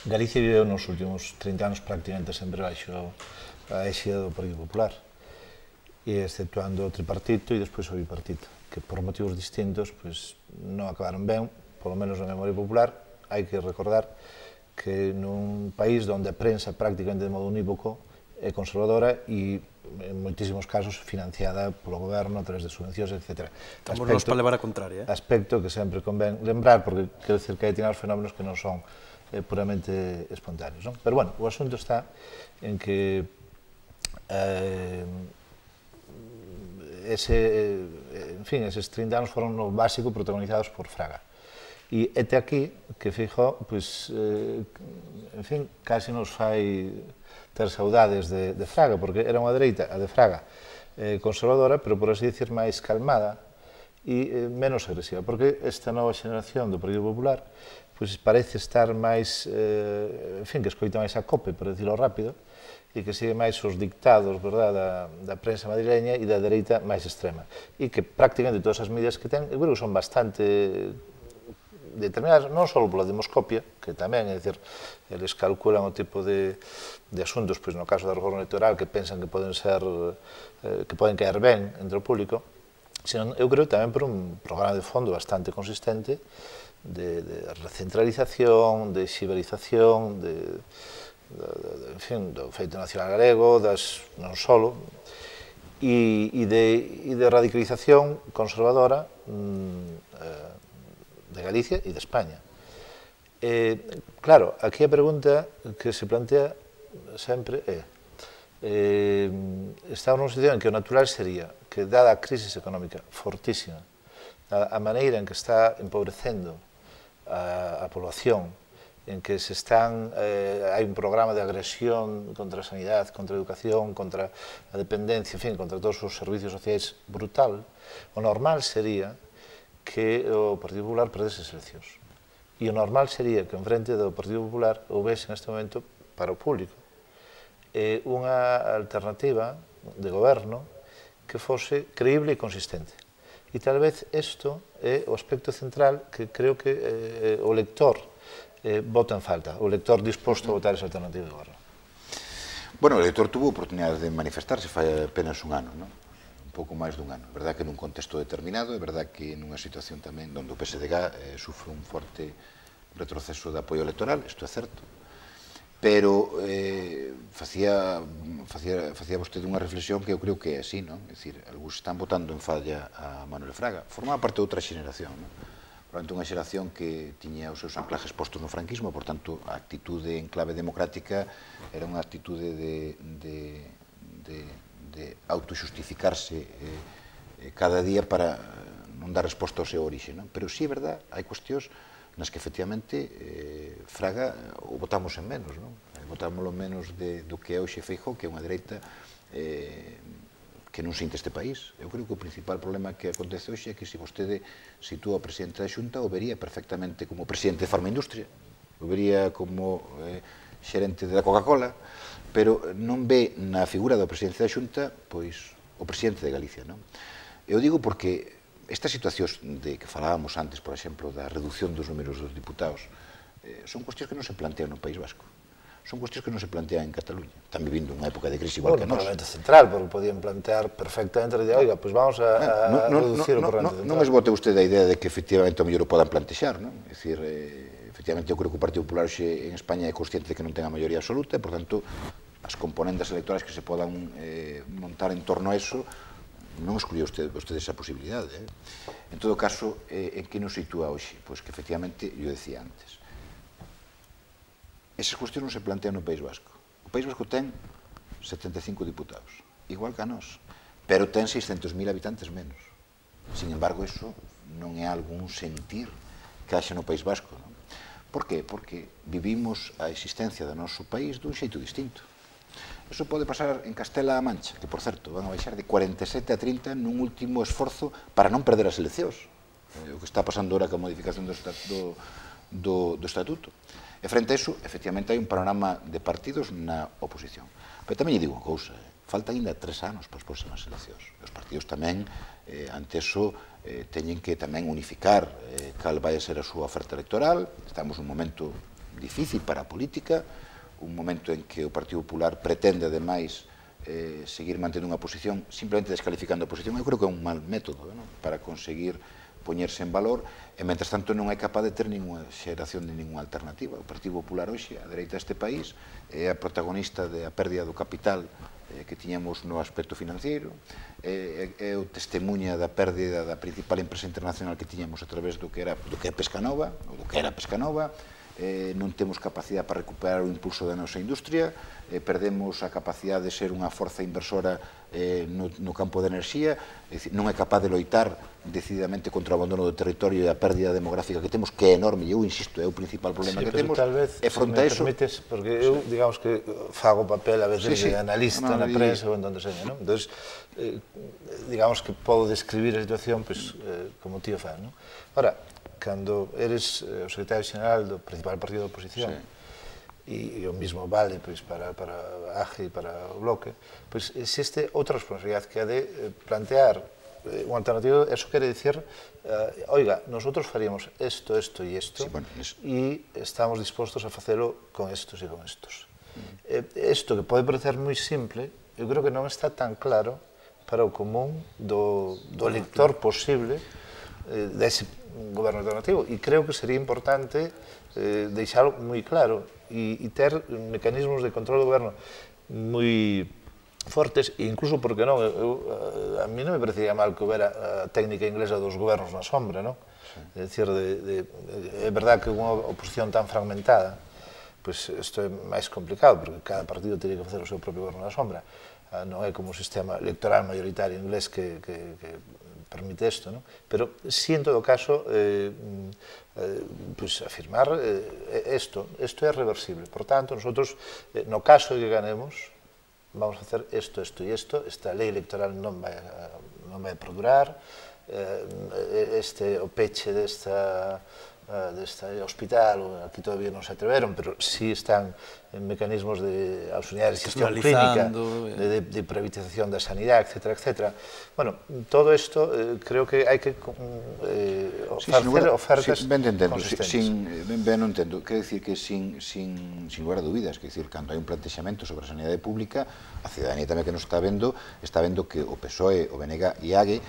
Galicia viveu nos últimos 30 anos prácticamente sempre baixo a éxida do Partido Popular, e exceptuando o tripartito e despois o bipartito, que por motivos distintos non acabaron ben, polo menos na memoria popular. Hai que recordar que nun país onde a prensa prácticamente de modo unívoco é conservadora e en moitísimos casos financiada polo goberno a través de subvencións, etc. Estamos nos para levar a contraria. Aspecto que sempre convén lembrar, porque quero dicir que hai determinados fenómenos que non son puramente espontáneos. Pero, bueno, o asunto está en que eses 30 anos foron no básico protagonizados por Fraga. E até aquí que Feijóo, casi nos fai ter saudades de Fraga, porque era unha dereita, a de Fraga, conservadora, pero por así dicir máis calmada e menos agresiva, porque esta nova xeneración do Partido Popular pois parece estar máis, en fin, que escoita máis a COPE, por decirlo rápido, e que sigue máis os dictados, verdad, da prensa madrileña e da dereita máis extrema. E que prácticamente todas as medidas que ten, eu creo que son bastante determinadas, non só pola demoscopia, que tamén, é dicir, eles calculan o tipo de asuntos, pois no caso da reforma electoral, que pensan que poden ser, que poden caer ben entre o público, senón, eu creo tamén por un programa de fondo bastante consistente de recentralización, de xiberización, en fin, do feito nacional galego, non solo, e de radicalización conservadora de Galicia e de España. Claro, aquí a pregunta que se plantea sempre é, estamos nunha situación en que o natural sería que, dada a crise económica fortísima, a maneira en que está empobrecendo a población, en que hai un programa de agresión contra a sanidade, contra a educación, contra a dependencia, en fin, contra todos os servicios sociais brutal, o normal sería que o Partido Popular perdese as eleccións. E o normal sería que en frente do Partido Popular houvese neste momento para o público unha alternativa de goberno que fose creíble e consistente. E tal vez isto é o aspecto central que creo que o lector vota en falta, o lector disposto a votar esa alternativa de goberno. Bueno, o elector tuvo oportunidade de manifestarse fai apenas un ano, non? Un pouco máis dun ano. É verdad que nun contexto determinado, é verdad que nunha situación tamén onde o PSDG sufre un forte retroceso de apoio electoral, isto é certo, pero facía vostede unha reflexión que eu creo que é así, non? É dicir, algúns están votando en falla a Manuel Fraga. Formaba parte de outra xeneración, non? Probablemente unha xeración que tiña os seus anclajes postos no franquismo, por tanto, a actitude en clave democrática era unha actitude de autoxustificarse cada día para non dar resposta ao seu orixe, non? Pero sí, é verdad, hai cuestións nas que efectivamente Fraga o votamos en menos, non? Votámoslo menos do que é hoxe Feijóo, que é unha dereita que non sinte este país. Eu creo que o principal problema que acontece hoxe é que se vostede sitúa o presidente da Xunta, o vería perfectamente como presidente de Farmaindustria, o vería como xerente da Coca-Cola, pero non ve na figura do presidente da Xunta pois o presidente de Galicia, non? Eu digo porque estas situacións de que falábamos antes, por exemplo, da reducción dos números dos diputados, son cuestións que non se plantean no País Vasco. Son cuestións que non se plantean en Cataluña. Están vivindo unha época de crise igual que nós. No Parlamento Central, porque podían plantear perfectamente, oiga, pois vamos a reducir o Parlamento Central. Non esbote usted a idea de que efectivamente o mellor o podan plantexar, non? É dicir, efectivamente, eu creo que o Partido Popular hoxe en España é consciente de que non ten a maioría absoluta e, por tanto, as componentes electorales que se podan montar en torno a eso non excluía usted esa posibilidade. En todo caso, en que nos sitúa hoxe? Pois que efectivamente, eu decía antes, esas cuestións non se plantean no País Vasco. O País Vasco ten 75 diputados, igual que a nós, pero ten 600.000 habitantes menos. Sin embargo, eso non é algún sentir que haxa no País Vasco, non? Por qué? Porque vivimos a existencia do noso país dun xeito distinto. Eso pode pasar en Castela-A Mancha, que, por certo, van a baixar de 47 a 30 nun último esforzo para non perder as eleccións. O que está pasando ahora ca modificación do Estatuto. E frente a iso, efectivamente, hai un panorama de partidos na oposición. Pero tamén lle digo unha cousa, faltan ainda 3 anos para as próximas eleccións. Os partidos tamén, ante iso, teñen que tamén unificar cal vai a ser a súa oferta electoral. Estamos nun momento difícil para a política, un momento en que o Partido Popular pretende, ademais, seguir mantendo unha posición simplemente descalificando a oposición. Eu creo que é un mal método para conseguir poñerse en valor, e, mentras tanto, non é capaz de ter ninguna xeración de ninguna alternativa. O Partido Popular hoxe, a dereita deste país, é a protagonista da pérdida do capital que tiñamos no aspecto financiero, é o testemunha da pérdida da principal empresa internacional que tiñamos a través do que é Pescanova, ou do que era Pescanova, non temos capacidade para recuperar o impulso da nosa industria, perdemos a capacidade de ser unha forza inversora no campo de enerxía, non é capaz de loitar decididamente contra o abandono do territorio e a pérdida demográfica que temos, que é enorme, e eu insisto, é o principal problema que temos, e fronte a eso... Porque eu, digamos que fago papel a veces de analista na prensa ou en donde seña, non? Entón, digamos que podo describir a situación como tío fan, non? Ora, cando eres o secretario xeral do principal partido da oposición, e o mismo vale para a AGE e para o Bloque, existe outra responsabilidade que é de plantear unha alternativa. Eso quere dicir, oiga, nosotros faríamos esto, esto e esto, e estamos dispostos a facelo con estos e con estos. Isto que pode parecer moi simple, eu creo que non está tan claro para o común do lector posible dese goberno alternativo, e creo que sería importante deixalo moi claro e ter mecanismos de control do goberno moi fortes, e incluso, porque non, a mí non me parecería mal que houbera a técnica inglesa dos gobernos na sombra, non? É dicir, é verdad que unha oposición tan fragmentada, pois isto é máis complicado, porque cada partido teria que facer o seu propio goberno na sombra, non é como o sistema electoral mayoritario inglés que permite isto, non? Pero, si en todo caso, afirmar isto é reversible. Por tanto, nosotros, no caso de que ganemos, vamos a hacer isto, isto e isto, esta lei electoral non vai a perdurar, o peche deste hospital, aquí todavía non se atreveron, pero sí están en mecanismos de auxiliar de gestión clínica, de privatización da sanidade, etc. etc. Bueno, todo isto creo que hai que facer ofertas consistentes. Ben non entendo, quer dicir que sin lugar a dúbidas, quer dicir, cando hai un plantexamento sobre a sanidade pública, a cidadanía tamén que nos está vendo que o PSOE, o BNG e AGE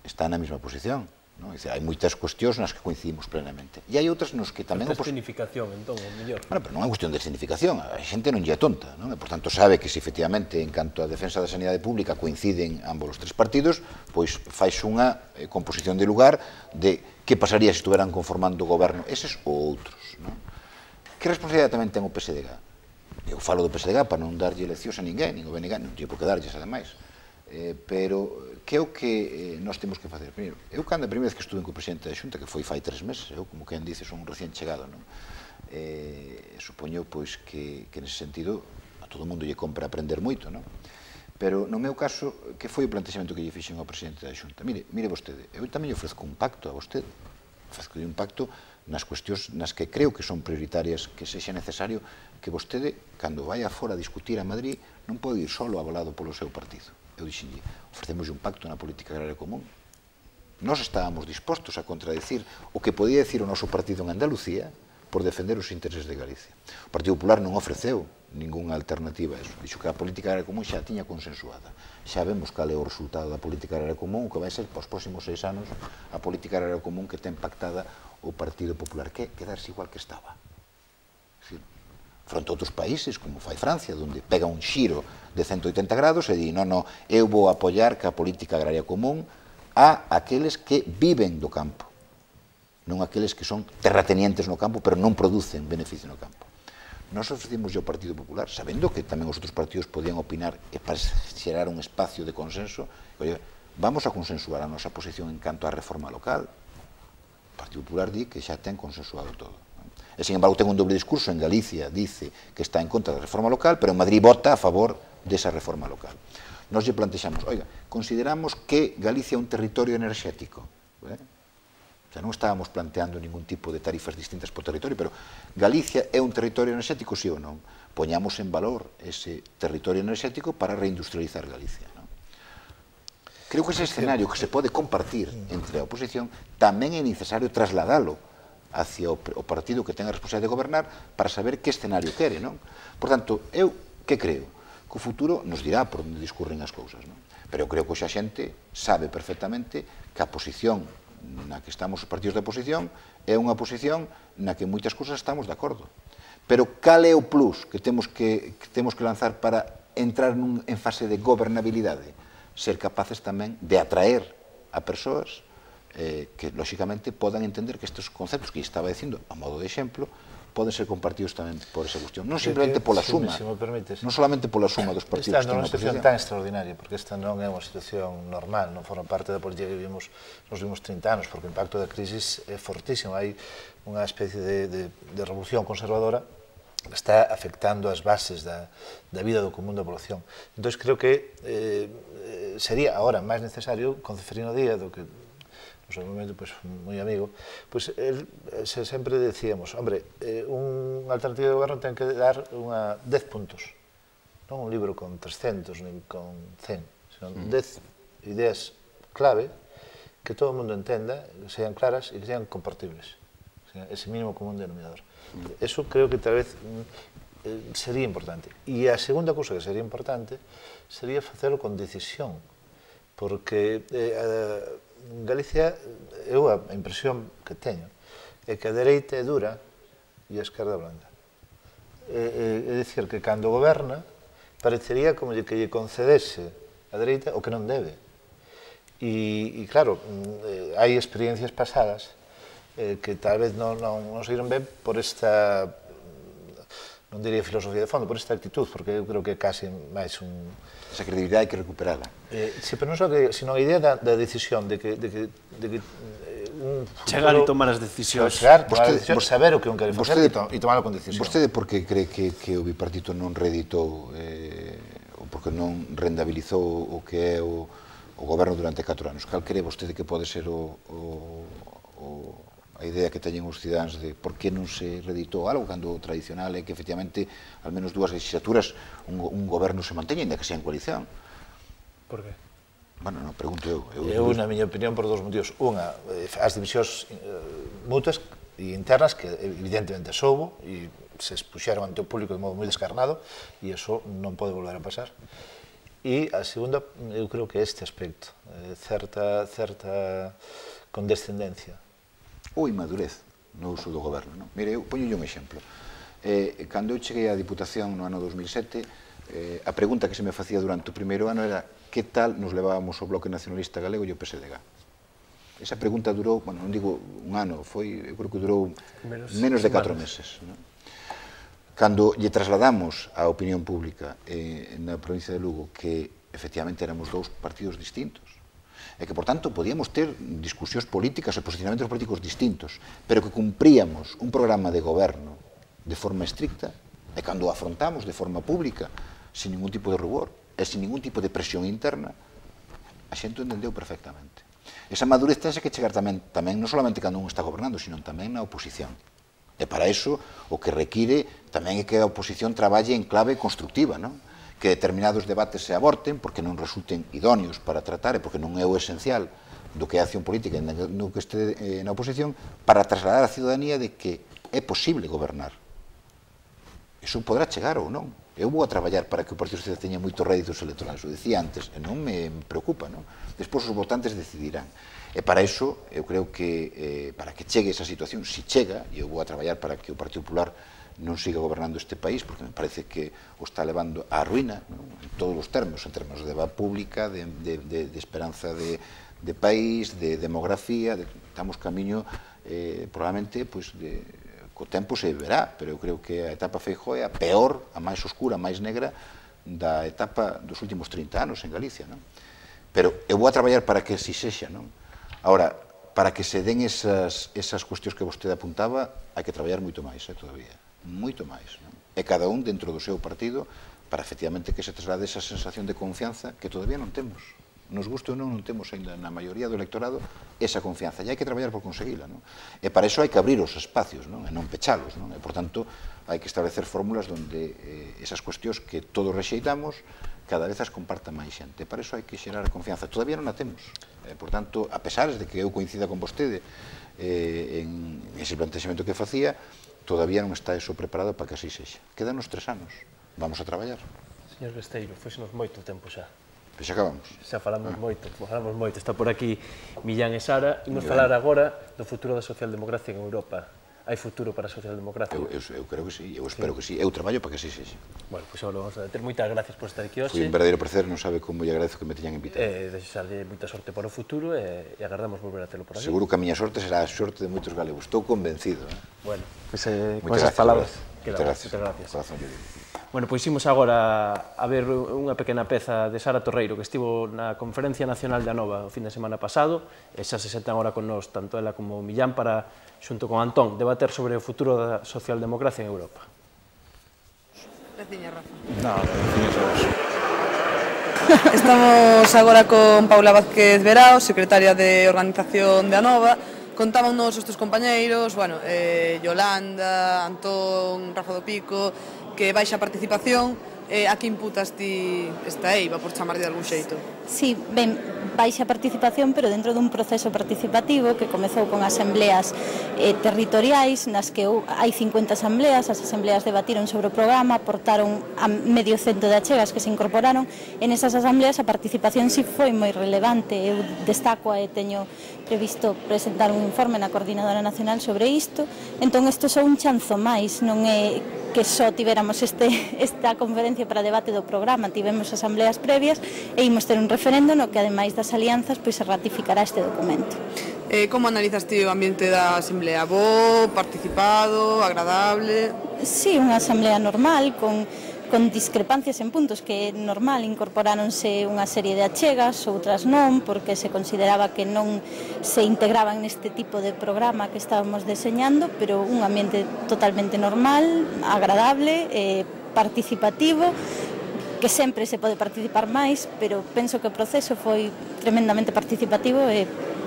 están na mesma posición. Hai moitas cuestións nas que coincidimos plenamente. E hai outras nos que tamén... Esta escenificación, entón, o mellor. Pero non é cuestión de escenificación, a xente non lle é tonta, non? E, por tanto, sabe que se efectivamente, en canto a defensa da sanidade pública, coinciden ambos os tres partidos, pois fais unha composición de lugar de que pasaría se estuveran conformando o goberno eses ou outros, non? Que responsabilidade tamén ten o PSDG? Eu falo do PSDG para non darlle leccións a ninguén, nin o BNG, non lle por que darlles, ademais. Pero que é o que nós temos que facer? Primeiro, eu cando a primeira vez que estuve co presidente da Xunta, que foi fai 3 meses, eu, como quen dice, son un recién chegado, non? Supoño, pois, que nese sentido a todo mundo lle compra aprender moito, non? Pero, no meu caso, que foi o plantexamento que lle fixen ao presidente da Xunta? Mire vostede, eu tamén lle ofrezco un pacto a vostede, ofrezco un pacto nas cuestións nas que creo que son prioritarias, que sexa necesario que vostede, cando vai fora a discutir a Madrid, non pode ir solo avalado polo seu partido. Eu dixenlle, ofrecemos un pacto na política agraria común. Nós estábamos dispostos a contradecir o que podía decir o noso partido en Andalucía por defender os intereses de Galicia. O Partido Popular non ofreceu ningunha alternativa a eso. Dixo que a política agraria común xa tiña consensuada. Xa vemos cal é o resultado da política agraria común, que vai ser, para os próximos 6 anos, a política agraria común que ten pactada o Partido Popular, que é quedarse igual que estaba. Fronte a outros países, como fai Francia, onde pega un xiro de 180 grados e di, non, eu vou apoiar que a política agraria común a aqueles que viven do campo, non aqueles que son terratenientes no campo, pero non producen beneficio no campo. Nós ofrecimos ao Partido Popular, sabendo que tamén os outros partidos podían opinar e para xerar un espacio de consenso, vamos a consensuar a nosa posición en canto á reforma local. O Partido Popular di que xa ten consensuado todo. E, sin embargo, ten un doble discurso. En Galicia dice que está en contra da reforma local, pero en Madrid vota a favor desa reforma local. Nos lle plantexamos, oiga, consideramos que Galicia é un territorio enerxético. Xa non estábamos planteando ningún tipo de tarifas distintas por territorio, pero Galicia é un territorio enerxético, sí ou non? Poñamos en valor ese territorio enerxético para reindustrializar Galicia. Creo que ese escenario que se pode compartir entre a oposición tamén é necesario trasladalo hacia o partido que ten a responsabilidade de gobernar para saber que escenario quere, non? Por tanto, eu que creo? Que o futuro nos dirá por onde discurren as cousas, non? Pero eu creo que a xente sabe perfectamente que a posición na que estamos os partidos de oposición é unha posición na que moitas cousas estamos de acordo. Pero cal é o plus que temos que lanzar para entrar en fase de gobernabilidade? Ser capaces tamén de atraer a persoas que, lóxicamente, podan entender que estes conceptos que estaba dicindo, a modo de exemplo, poden ser compartidos tamén por esa cuestión. Non simplemente pola suma, non solamente pola suma dos partidos. Esta non é unha situación tan extraordinaria, porque esta non é unha situación normal, non forma parte da política que vivimos nos últimos 30 anos, porque o impacto da crisis é fortísimo. Hai unha especie de revolución conservadora que está afectando as bases da vida do común da población. Entón, creo que sería agora máis necesario, con Ceferino Díaz, do que no seu momento, moi amigo, sempre decíamos, hombre, un alternativo de goberno ten que dar 10 puntos, non un libro con 300, nin con 100, senón 10 ideas clave que todo o mundo entenda, que sean claras e que sean compartibles, ese mínimo común denominador. Eso creo que tal vez sería importante. E a segunda cousa que sería importante sería facelo con decisión, porque Galicia, eu a impresión que teño é que a dereita é dura e a esquerda blanda. É dicir, que cando goberna parecería como que lle concedese a dereita o que non debe. E claro, hai experiencias pasadas que tal vez non saíron ben por esta, non diría filosofía de fondo, por esta actitud, porque eu creo que é casi máis un... Esa credibilidade hai que recuperala. Sí, pero non só que, sino a idea da decisión, de que un futuro... Chegar e tomar as decisións. Chegar, saber o que un quere facer e tomarlo con decisión. Vostede por que cree que o bipartito non reeditou, ou porque non rendabilizou o que é o goberno durante 4 anos? Cal cree vostede que pode ser a idea que teñen os cidadáns de por que non se reeditou algo cando o tradicional é que efectivamente al menos 2 legislaturas un goberno se manteña, ainda que sea en coalición? Por que? Bueno, non, pregunto eu. Eu, na miña opinión, por 2 motivos. Unha, as divisións mutuas e internas, que evidentemente soubo, e se expuxeron ante o público de modo moi descarnado, e iso non pode volver a pasar. E a segunda, eu creo que este aspecto, certa condescendencia. Ou inmadurez no uso do goberno, non? Mire, eu poño un exemplo. Cando eu cheguei á Diputación no ano 2007, a pregunta que se me facía durante o primeiro ano era que tal nos levábamos o Bloque Nacionalista Galego e o PSDG. Esa pregunta durou, bueno, non digo un ano, eu creo que durou menos de 4 meses. Cando lle trasladamos á opinión pública na provincia de Lugo que efectivamente éramos 2 partidos distintos, e que, por tanto, podíamos ter discusións políticas e posicionamentos políticos distintos, pero que cumpríamos un programa de goberno de forma estricta, e cando o afrontamos de forma pública, sin ningún tipo de rubor, e sin ningún tipo de presión interna, a xente entendeu perfectamente. Esa madurez tense que chegar tamén non solamente cando un está gobernando, sino tamén na oposición. E para iso, o que require tamén é que a oposición traballe en clave constructiva, non? Que determinados debates se aborten porque non resulten idóneos para tratar e porque non é o esencial do que é a acción política no que este na oposición, para trasladar a ciudadanía de que é posible gobernar. Iso podrá chegar ou non. Eu vou a traballar para que o Partido Socialista teña moitos réditos electorais, o dicía antes, e non me preocupa, non? Despois os votantes decidirán. E para iso, eu creo que para que chegue esa situación, si chega, e eu vou a traballar para que o Partido Popular non siga gobernando este país, porque me parece que o está levando á ruína, en todos os termos, en termos de deba pública, de esperanza de país, de demografía, estamos camiño, probablemente, co tempo se verá, pero eu creo que a etapa Feijóo é a peor, a máis oscura, a máis negra da etapa dos últimos 30 anos en Galicia, non? Pero eu vou a traballar para que así sexa, non? Ahora, para que se den esas cuestións que vostede apuntaba, hai que traballar moito máis, todavía. Moito máis, non? E cada un dentro do seu partido para efectivamente que se traslade esa sensación de confianza que todavía non temos. Nos guste ou non temos ainda na maioría do electorado esa confianza, e hai que traballar por conseguila, non? E para iso hai que abrir os espacios, non? E non pechalos, non? E, por tanto, hai que establecer fórmulas onde esas cuestións que todos rexeitamos cada vez as comparta máis xente. Para iso hai que xerar a confianza. Todavía non a temos. Por tanto, a pesar de que eu coincida con vostede en ese plantexamento que facía, todavía non está eso preparado para que así sexa. Quedanos 3 anos. Vamos a traballar. Señor Besteiro, foxenos moito tempo xa. Pois acabamos. Xa falamos moito. Está por aquí Millán e Sara. Imos falar agora do futuro da socialdemocracia en Europa. hai futuro para a socialdemocracia? Eu creo que sí, eu espero que sí, eu traballo para que sí sexa. Bueno, pois agora vamos a ter moitas gracias por estar aquí hoxe. Foi un verdadeiro placer, non sabe como lle agradezo que me teñan invitado. Desexarlle moita sorte para o futuro e agardamos volver a telo por aquí. Seguro que a miña sorte será a sorte de moitos galegos, estou convencido. Bueno, pois con esas palabras. Moitas gracias. Corazón yo digo. Bueno, pois imos agora a ver unha pequena peza de Sara Torreiro que estivo na Conferencia Nacional de Anova o fin de semana pasado e xa se sentan agora con nós, tanto ela como Millán, para, xunto con Antón, debater sobre o futuro da socialdemocracia en Europa. Graciña, Rafa. No, graciñas a vos. Estamos agora con Paula Vázquez Verao, secretaria de Organización de Anova. Contámonos os teus compañeiros, bueno, Yolanda, Antón, Rafa do Pico, que baixa participación. A que imputas ti esta eiva, por chamar de algún xeito? Sí, ben, baixa participación, pero dentro dun proceso participativo que comezou con asambleas territoriais, nas que hai 50 asambleas, as asambleas debatiron sobre o programa, aportaron a medio cento de achegas que se incorporaron, en esas asambleas a participación si foi moi relevante. Eu destaco e teño previsto presentar un informe na Coordinadora Nacional sobre isto, entón isto é un chanzo máis, non é que só tiveramos esta conferencia para debate do programa, tivemos asambleas previas e imos ter un referendo no que, ademais das alianzas, pois se ratificará este documento. Como analizas ti o ambiente da asamblea? Bo, participado, agradable? Sí, unha asamblea normal, con discrepancias en puntos que é normal, incorporáronse unha serie de achegas, outras non, porque se consideraba que non se integraban neste tipo de programa que estábamos deseñando, pero un ambiente totalmente normal, agradable, participativo, que sempre se pode participar máis, pero penso que o proceso foi tremendamente participativo e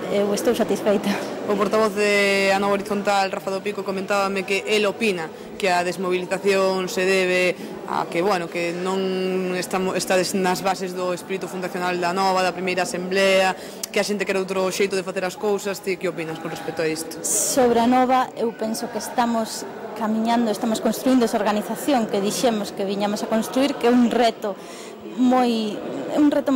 eu estou satisfeita. O portavoz de Anova Horizontal, Rafa do Pico, comentábame que el opina que a desmovilización se debe a que, bueno, que non estades nas bases do espírito fundacional da Anova, da primeira asamblea, que a xente quere outro xeito de facer as cousas. Ti que opinas con respecto a isto? Sobre a Anova, eu penso que estamos camiñando, estamos construindo esa organización que dixemos que viñamos a construir, que é un reto moi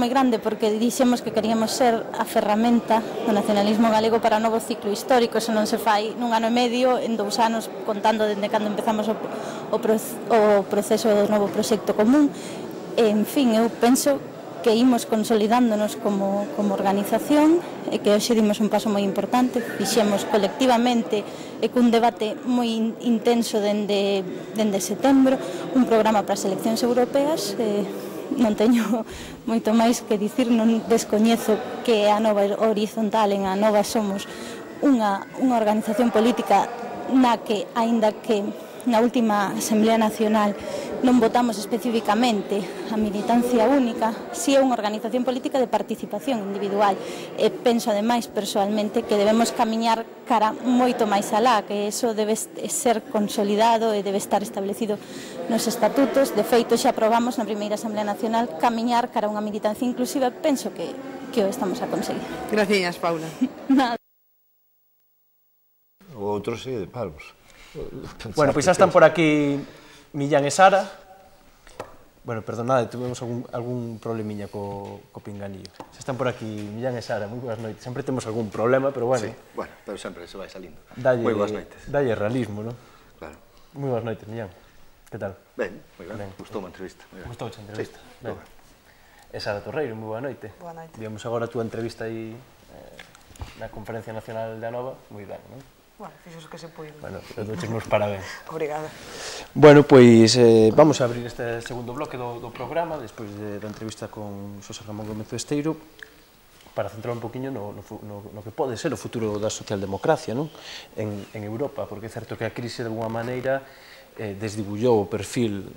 grande, porque dixemos que queríamos ser a ferramenta do nacionalismo galego para o novo ciclo histórico. Eso non se fai nun ano e medio, en 2 anos, contando dende cando empezamos o proceso do novo proxecto común. En fin, eu penso que imos consolidándonos como organización e que hoxe dimos un paso moi importante, fixemos colectivamente e cun debate moi intenso dende setembro un programa para as eleccións europeas. Non teño moito máis que dicir, non descoñezo que a Anova Horizontal, en a Anova somos unha organización política na que, aínda que na última Asamblea Nacional non votamos especificamente a militancia única, si é unha organización política de participación individual. E penso, ademais, persoalmente, que debemos camiñar cara moito máis alá, que eso debe ser consolidado e debe estar establecido nos estatutos. De feito, xa aprobamos na primeira Asamblea Nacional camiñar cara a unha militancia inclusiva. Penso que o estamos a conseguir. Graciñas, Paula. Nada. O outro sí, de parvos. Bueno, pois xa están por aquí Millán e Sara. Bueno, perdonade, tuvemos algún problemiña co pinganillo. Xa están por aquí Millán e Sara, moi boas noites. Sempre temos algún problema, pero bueno. Sí, bueno, pero sempre se vai salindo. Moi boas noites. Dalle realismo, non? Claro. Moi boas noites, Millán. Que tal? Ben, moi ben. Gustoume a entrevista. Gustouche a entrevista? Sí, ben. E Sara Torreiro, moi boa noite. Boa noite. Víamos agora a túa entrevista aí na Conferencia Nacional de Anova. Moi ben, non? Bueno, fixos que se puido. Bueno, eu doches meus parabéns. Obrigada. Bueno, pois vamos a abrir este segundo bloque do programa, despois da entrevista con Xosé Ramón Gómez Besteiro, para centrar un poquinho no que pode ser o futuro da socialdemocracia, non? En Europa, porque é certo que a crise de alguma maneira desdibullou o perfil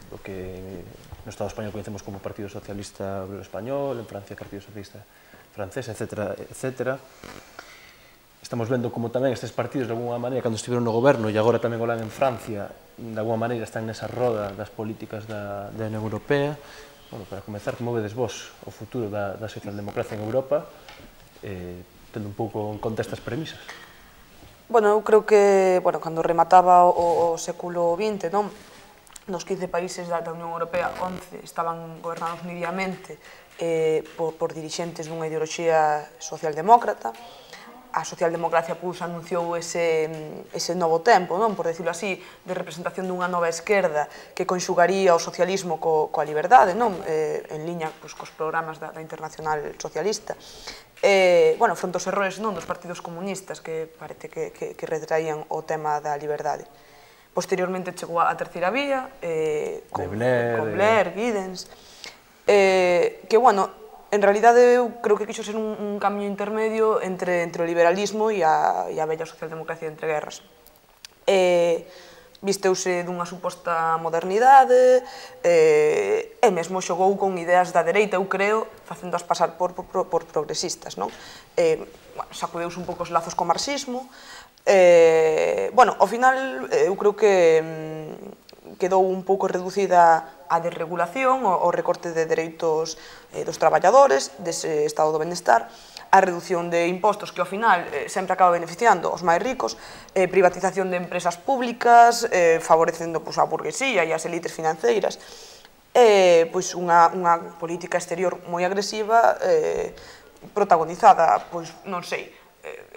do que no Estado español conhecemos como Partido Socialista Obrero Español, en Francia Partido Socialista Francés, etc. Estamos vendo como tamén estes partidos, de alguma maneira, cando estiveron no goberno e agora tamén o lan en Francia, de alguma maneira están nesa roda das políticas da Unión Europea. Bueno, para comezar, como vedes vos o futuro da socialdemocracia en Europa, tendo un pouco en conta estas premisas? Bueno, eu creo que, cando remataba o século XX, non? Nos 15 países da Unión Europea, 11 estaban gobernados nidamente por dirixentes dunha ideoloxía socialdemócrata. a socialdemocracia anunciou ese novo tempo, por decirlo así, de representación dunha nova esquerda que conxugaría o socialismo coa liberdade, en liña cos programas da Internacional Socialista. Fronte aos errores dos partidos comunistas que parece que retraían o tema da liberdade. Posteriormente chegou a terceira vía, con Blair, Giddens, que, en realidade, eu creo que quixo ser un camiño intermedio entre o liberalismo e a bella socialdemocracia entre guerras. Visteuse dunha suposta modernidade e mesmo xogou con ideas da dereita, eu creo, facéndoas pasar por progresistas. Sacudeuse un pouco os lazos co marxismo. Ao final, eu creo que quedou un pouco reducida a desregulación, o recorte de dereitos dos traballadores, dese estado do benestar, a reducción de impostos que ao final sempre acaba beneficiando os máis ricos, privatización de empresas públicas, favorecendo a burguesía e as elites financeiras, unha política exterior moi agresiva, protagonizada, non sei,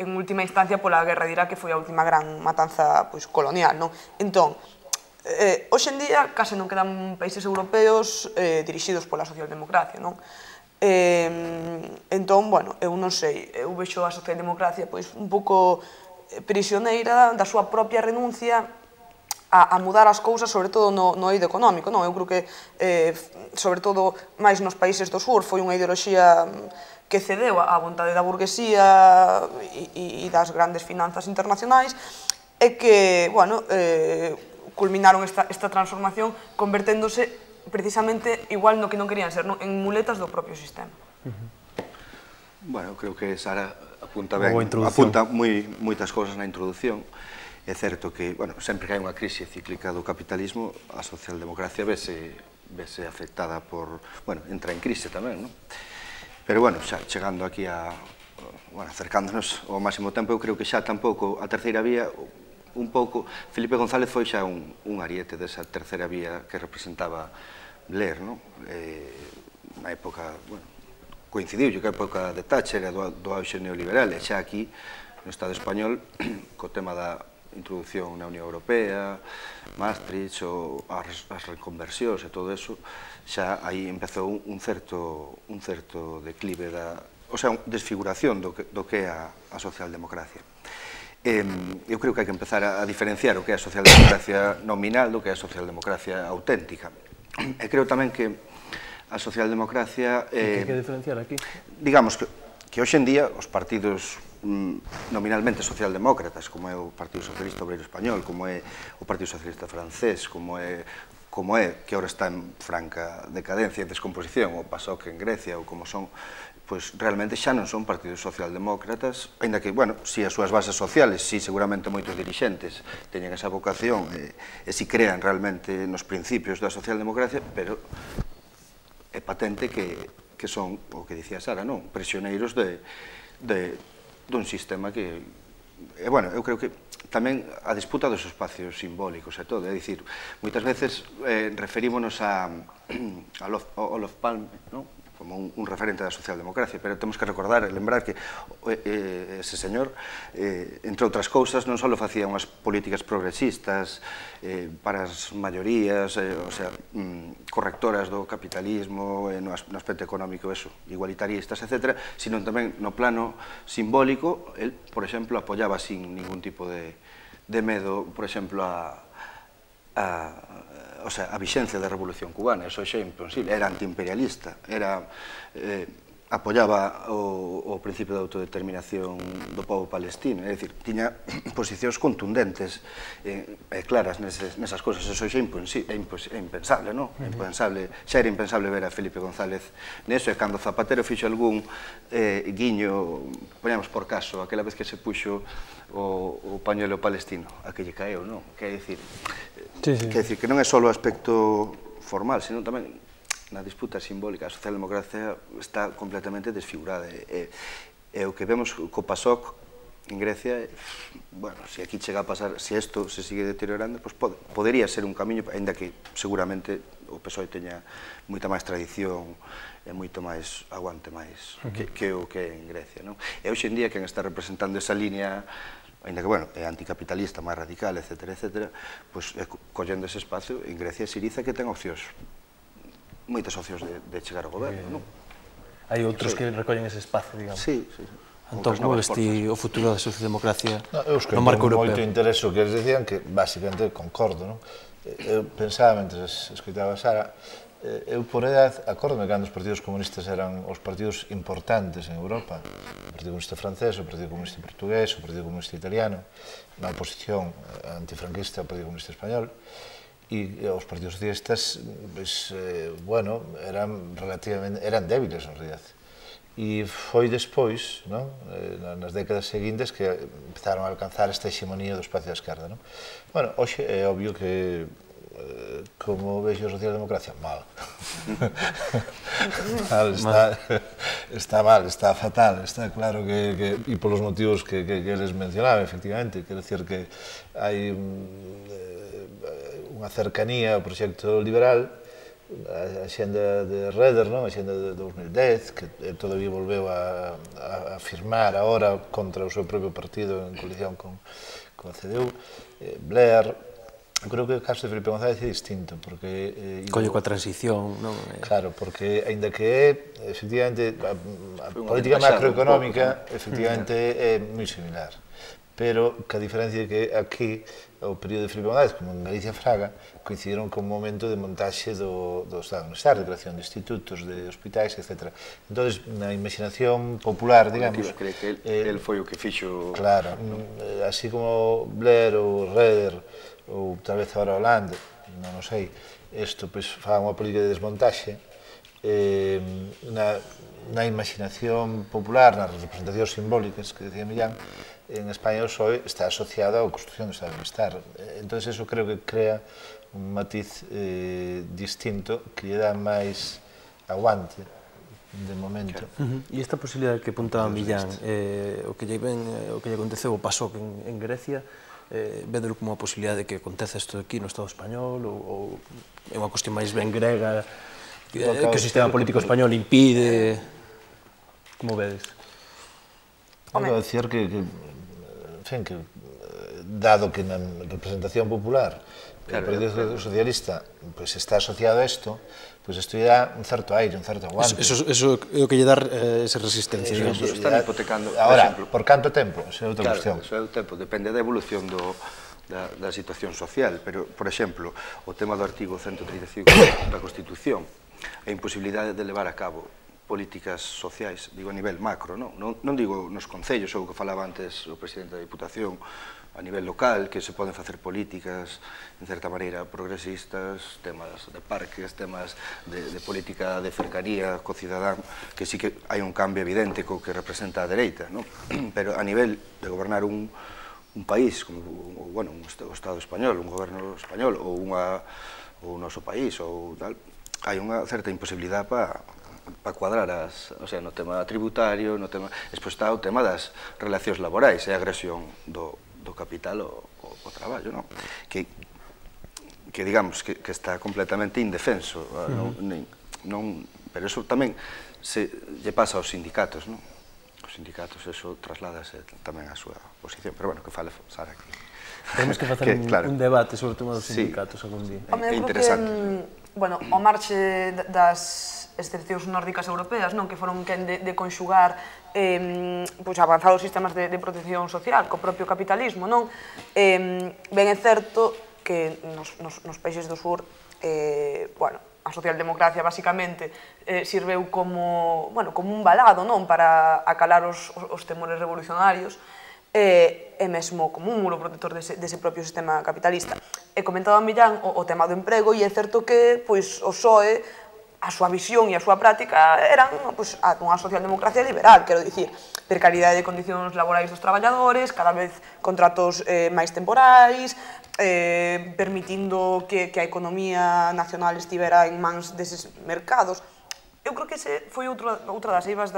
en última instancia pola guerra de Irak, que foi a última gran matanza colonial. Entón, hoxe en día case non quedan países europeos dirixidos pola socialdemocracia. Entón, eu non sei, eu vexo a socialdemocracia un pouco prisioneira da súa propia renuncia a mudar as cousas, sobre todo no eido económico. Eu creo que, sobre todo, máis nos países do sur, foi unha ideoloxía que cedeu á vontade da burguesía e das grandes finanzas internacionais e que, culminaron esta transformación converténdose precisamente igual no que non querían ser, en muletas do propio sistema. Bueno, creo que Sara apunta ben, apunta moitas cousas na introducción. É certo que, sempre que hai unha crise cíclica do capitalismo, a socialdemocracia vese afectada por, entra en crise tamén, non? Pero, xa chegando aquí acercándonos ao máximo tempo, eu creo que xa tampouco a terceira vía, un pouco, Felipe González foi xa un ariete desa terceira vía que representaba Blair, non? Na época, coincidiu que a época de Thatcher e do auxe neoliberal, e xa aquí, no Estado español, co tema da introducción na Unión Europea, Maastricht, as reconversións e todo eso, xa aí empezou un certo declive o sea, desfiguración do que é a socialdemocracia. Eu creo que hai que empezar a diferenciar o que é a socialdemocracia nominal do que é a socialdemocracia auténtica. E creo tamén que a socialdemocracia... Que hai que diferenciar aquí? Digamos que hoxe en día os partidos nominalmente socialdemócratas, como é o Partido Socialista Obreiro Español, como é o Partido Socialista Francés, como é que ahora está en franca decadencia e descomposición, o PASOK en Grecia, ou como son, pois realmente xa non son partidos socialdemócratas, ainda que, si as súas bases sociales, si seguramente moitos dirixentes teñen esa vocación e si crean realmente nos principios da socialdemocracia, pero é patente que son, o que dicía Sara, prisioneiros dun sistema que... eu creo que tamén a disputa dos espacios simbólicos e todo, é dicir, moitas veces referímonos a Olof Palme, como un referente da socialdemocracia, pero temos que recordar e lembrar que ese señor, entre outras cousas, non só facía unhas políticas progresistas para as maiorías, correctoras do capitalismo, no aspecto económico, igualitaristas, etc., sino tamén no plano simbólico, el, por exemplo, apoyaba sin ningún tipo de medo, por exemplo, a vixencia da Revolución Cubana, eso xa é imposible, era antiimperialista, apoyaba o principio de autodeterminación do povo palestino, é dicir, tiña posicións contundentes e claras nesas cousas, eso xa é impensable, non? Xa era impensable ver a Felipe González neso, e cando Zapatero fixo algún guiño, poñamos por caso, aquela vez que se puxo o pañuelo palestino, a que lle caeu, non? Quer dicir, que non é só o aspecto formal, sino tamén na disputa simbólica. A socialdemocracia está completamente desfigurada. E o que vemos co PASOK en Grecia, se aquí chega a pasar, se isto se sigue deteriorando, podería ser un camiño, ainda que seguramente o PSOE teña moita máis tradición e moito máis aguante máis que o que é en Grecia, non? E hoxe en día quen está representando esa línea, ainda que, bueno, é anticapitalista, máis radical, etc., pois collendo ese espacio, en Grecia é Syriza que ten opcións, moitas opcións de chegar ao goberno, non? Hai outros que recollen ese espacio, digamos. Sí. Entón, como vesti o futuro da socialdemocracia no marco europeo? Moito interese o que eles decían, que basicamente concordo, non? Eu pensaba, mentre escoitaba a Sara, eu por edad, acórdome cando os partidos comunistas eran os partidos importantes en Europa, o Partido Comunista Francés, o Partido Comunista Portugués, o Partido Comunista Italiano, na oposición antifranquista ao Partido Comunista Español, e os partidos socialistas, bueno, eran débiles, en realidad. E foi despois, nas décadas seguintes, que empezaron a alcanzar esta hegemonía do espacio da esquerda. Bueno, hoxe é obvio que, como vexo a socialdemocracia, mal. Está mal, está fatal, está claro que e polos motivos que eles mencionaban, efectivamente, quero dicir que hai unha cercanía ao proxecto liberal, a xenda de Reder, a xenda de 2010, que todavía volveu a firmar agora contra o seu propio partido en coalición con a CDU, Blair. Eu creo que o caso de Felipe González é distinto, porque... Colle coa transición, non? Claro, porque, aínda que é, efectivamente, a política macroeconómica, efectivamente, é moi similar. Pero que a diferencia é que aquí, o período de Felipe González, como en Galicia Fraga, coincidiron con un momento de montaxe do Estado de Bienestar, de creación de institutos, de hospitais, etc. Entón, na imaginación popular, digamos... Cree que el foi o que fixo... Claro, así como Blair ou Reder, ou tal vez agora Hollande, non o sei, isto fa unha política de desmontaxe, na imaginación popular, nas representacións simbólicas que decía Millán, en España o PSOE está asociado á construción do Estado de Bienestar. Entón, eso creo que crea un matiz distinto que lle dá máis aguante de momento. E esta posibilidade que apuntaba Millán, o que lle aconteceu, o pasó en Grecia, vedelo como a posibilidade de que acontece isto aquí no Estado español, ou é unha cuestión máis ben grega, que o sistema político español impide... Como vedes? Acabo de dicir que, dado que na representación popular o Partido Socialista está asociado a isto, isto lle dá un certo aire, un certo aguante. Eso é o que lle dá esa resistencia. Están hipotecando... Ahora, por canto tempo? Esa é outra cuestión. Claro, eso é o tempo, depende da evolución da situación social, pero, por exemplo, o tema do artigo 135 da Constitución, a imposibilidade de levar a cabo políticas sociais, digo a nivel macro, non digo nos concellos, ou o que falaba antes o presidente da Diputación, a nivel local, que se poden facer políticas, en certa maneira, progresistas, temas de parques, temas de política de cercanía co cidadán, que sí que hai un cambio evidente co que representa a dereita, pero a nivel de gobernar un país, como o Estado español, un goberno español, ou o noso país, ou tal, hai unha certa imposibilidade para cuadrar no tema tributario, despois está o tema das relacións laborais e a agresión do capital ao traballo, que digamos que está completamente indefenso, pero eso tamén lle pasa aos sindicatos, os sindicatos eso trasládase tamén á súa posición, pero bueno, que fale Sara aquí. Temos que facer un debate sobre o tema dos sindicatos algún día. É interesante. Bueno, ao marxe das excepcións nórdicas europeas, que foron quen de conxugar avanzados sistemas de protección social co propio capitalismo, ben é certo que nos países do sur, a socialdemocracia basicamente sirveu como un balado para acalar os temores revolucionarios e mesmo como un muro protector dese propio sistema capitalista. E comentaba Millán o tema do emprego, e é certo que o PSOE, a súa visión e a súa práctica eran unha socialdemocracia liberal, quero dicir, precariedade de condicións laborais dos traballadores, cada vez contratos máis temporais, permitindo que a economía nacional estivera en mans deses mercados. Eu creo que ese foi outra das eivas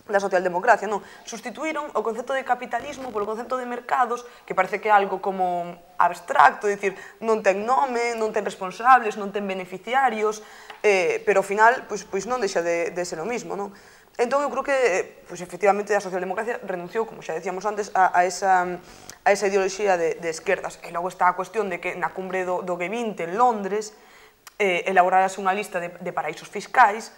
da socialdemocracia, non? Sustituíron o concepto de capitalismo polo concepto de mercados, que parece que é algo como abstracto, dicir, non ten nome, non ten responsables, non ten beneficiarios, pero ao final, pois non deixa de ser o mismo, non? Entón, eu creo que, efectivamente, a socialdemocracia renunciou, como xa decíamos antes, a esa ideoloxía de esquerdas. E logo está a cuestión de que na cumbre do G20 en Londres elaborarase unha lista de paraísos fiscais,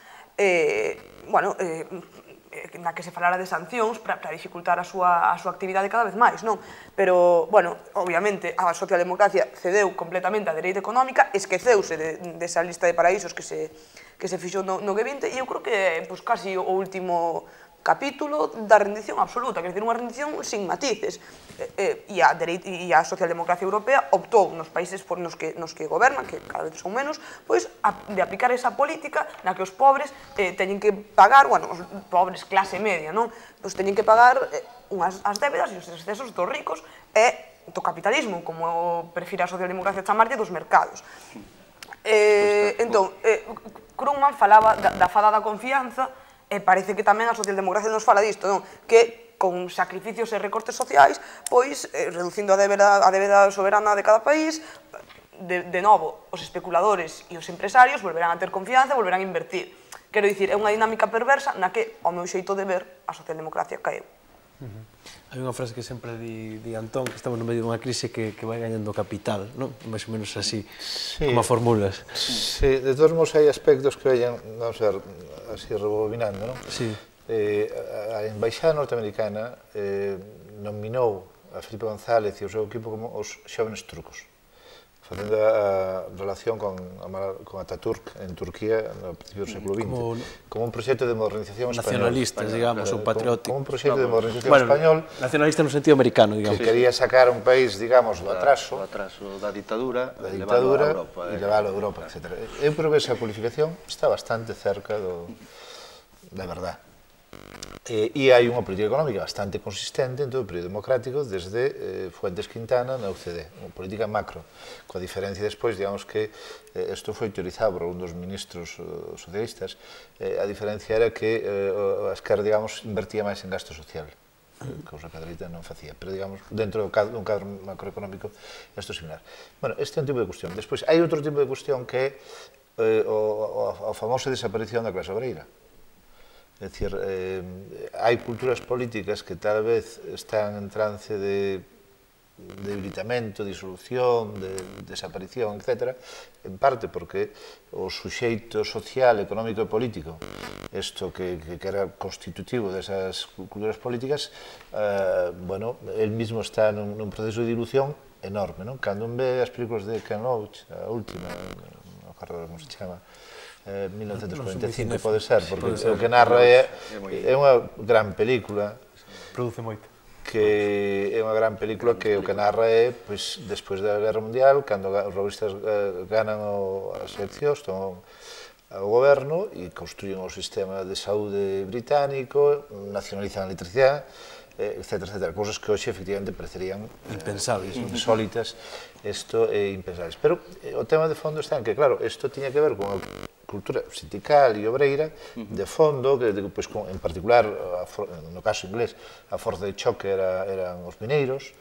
na que se falara de sancións para dificultar a súa actividade cada vez máis, non? Pero, obviamente, a socialdemocracia cedeu completamente a dereita económica, esqueceuse desa lista de paraísos que se fixou no G20, e eu creo que é casi o último capítulo da rendición absoluta, quer dizer, unha rendición sin matices. E a socialdemocracia europea optou nos países nos que gobernan, que cada vez son menos, pois de aplicar esa política na que os pobres teñen que pagar, os pobres clase media, non? Pois teñen que pagar as débedas e os excesos dos ricos e do capitalismo, como prefira a socialdemocracia chamarlle, dos mercados. Entón, Krugman falaba da fada da confianza, e parece que tamén a socialdemocracia nos fala disto, non? Que con sacrificios e recortes sociais, pois, reducindo a débeda soberana de cada país, de novo, os especuladores e os empresarios volverán a ter confianza e volverán a invertir. Quero dicir, é unha dinámica perversa na que, ao meu xeito de ver, a socialdemocracia caeu. Hai unha frase que sempre di Antón, que estamos no medio dunha crise que vai gañando capital, non? Mais ou menos así, como a formulas. Sí, de todos modos hai aspectos que vayan, vamos a ver, así rebobinando, non? Sí. A embaixada norteamericana nominou a Felipe González e o seu equipo como os xóvenes turcos, facendo a relación con Ataturk en Turquía no principio do século XX, como un proxecto de modernización español. Nacionalistas, digamos, ou patriótico. Como un proxecto de modernización español. Nacionalista no sentido americano, digamos. Que quería sacar un país, digamos, do atraso. Do atraso da ditadura e leválo a Europa, etc. Eu creo que esa cualificación está bastante cerca da verdad. E hai unha política económica bastante consistente en todo o período democrático desde Fuentes Quintana na OCDE, unha política macro, coa diferencia despois, digamos que isto foi teorizado por un dos ministros socialistas, a diferencia era que a esquerda, digamos, invertía máis en gasto social, cousa que a dereita non facía, pero, digamos, dentro dun cadro macroeconómico isto é similar. Bueno, este é un tipo de cuestión. Despois, hai outro tipo de cuestión que é a famosa desaparición da clase obreira. É dicir, hai culturas políticas que tal vez están en trance de debilitamento, disolución, de desaparición, etc. En parte porque o suxeito social, económico e político, isto que era constitutivo desas culturas políticas, bueno, el mismo está nun proceso de dilución enorme, non? Cando un ve as películas de Ken Loach, a última, non recordo como se chama, 1945 pode ser, porque o que narra é unha gran película, produce moito, que é unha gran película que o que narra é, pois, despois da Guerra Mundial, cando os robistas ganan as eleccións, toman o goberno e construyen o sistema de saúde británico, nacionalizan a electricidade, etc. Cousas que hoxe, efectivamente, parecerían impensables, insólitas, isto é impensables. Pero o tema de fondo está en que, claro, isto tiña que ver con a cultura sindical e obreira de fondo, que en particular, no caso inglés, a forza de choque eran os mineiros,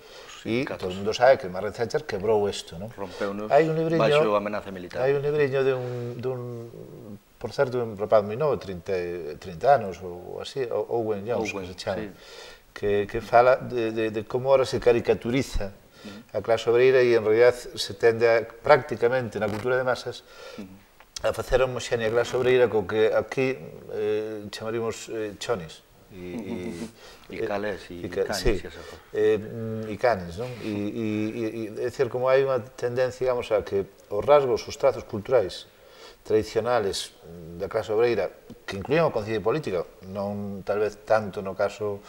e todo o mundo sabe que Margaret Thatcher quebrou isto, non? Rompeu-nos baixo amenaza militar. Hai un libriño dun, por certo, un rapaz moi novo, 30 anos ou así, Owen Jones, que se chama, que fala de como ahora se caricaturiza a clase obreira e en realidad se tende prácticamente na cultura de masas a facer a homoxénea clase obreira co que aquí chamaríamos chonis e calés e canes, non? É dicir, como hai unha tendencia, digamos, a que os rasgos, os trazos culturais tradicionales da clase obreira, que incluían o concepto de política, non tal vez tanto no caso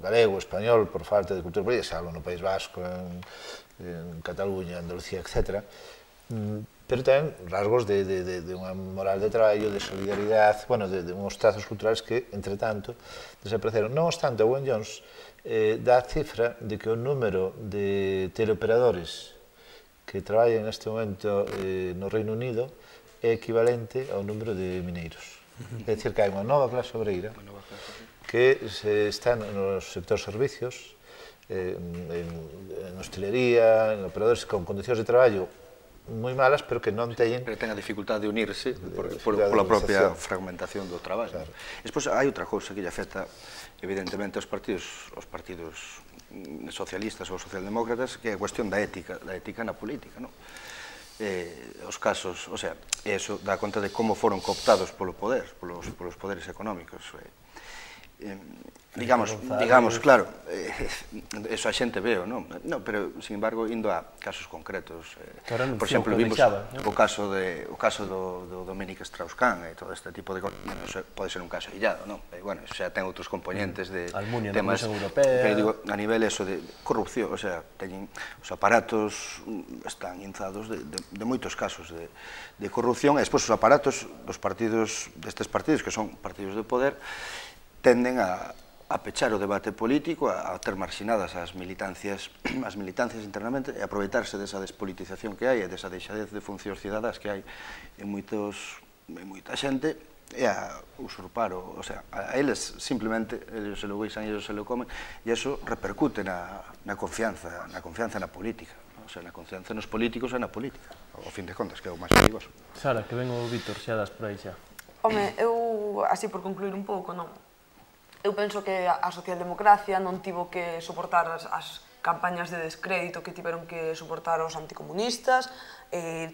galego, español, por falta de cultura política, salvo no País Vasco, en Cataluña, Andalucía, etc., pero tamén rasgos de unha moral de traballo, de solidaridade, bueno, de uns trazos culturales que, entre tanto, desapareceron. Non obstante, Owen Jones dá a cifra de que o número de teleoperadores que traballan neste momento no Reino Unido é equivalente ao número de mineiros. É dicir, que hai unha nova clase obreira que está nos sectores servicios, en hostelería, en operadores con condicións de traballo moi malas, pero que non teñen... Pero ten a dificultade de unirse pola propia fragmentación do traballo. Despois, hai outra cousa que lle afecta, evidentemente, aos partidos socialistas ou socialdemócratas, que é a cuestión da ética na política, non? Os casos, o sea, eso dá conta de como foron cooptados polo poder, polos poderes económicos. Digamos, claro, eso a xente veo, non? Pero, sin embargo, indo a casos concretos, por exemplo, vimos o caso do Dominique Strauss-Kahn e todo este tipo de cosas, pode ser un caso illado, non? Bueno, eso xa ten outros componentes de temas, pero digo, a nivel eso de corrupción, o sea, teñen os aparatos están inzados de moitos casos de corrupción, e despois os aparatos dos partidos, destes partidos que son partidos de poder, tenden a pechar o debate político, a ter marxinadas as militancias internamente e aproveitarse desa despolitización que hai e desa deixadez de funcións cidadás que hai en moita xente e a usurpar, o sea, a eles simplemente, eles se lo guisan e eles se lo comen, e iso repercute na confianza na política, o sea, na confianza nos políticos e na política, ao fin de contas, que é o máis perigoso. Sara, que ven o Vítor xa das por aí xa. Home, eu, así por concluir un pouco, non? Eu penso que a socialdemocracia non tivo que soportar as campañas de descrédito que tiveron que soportar os anticomunistas,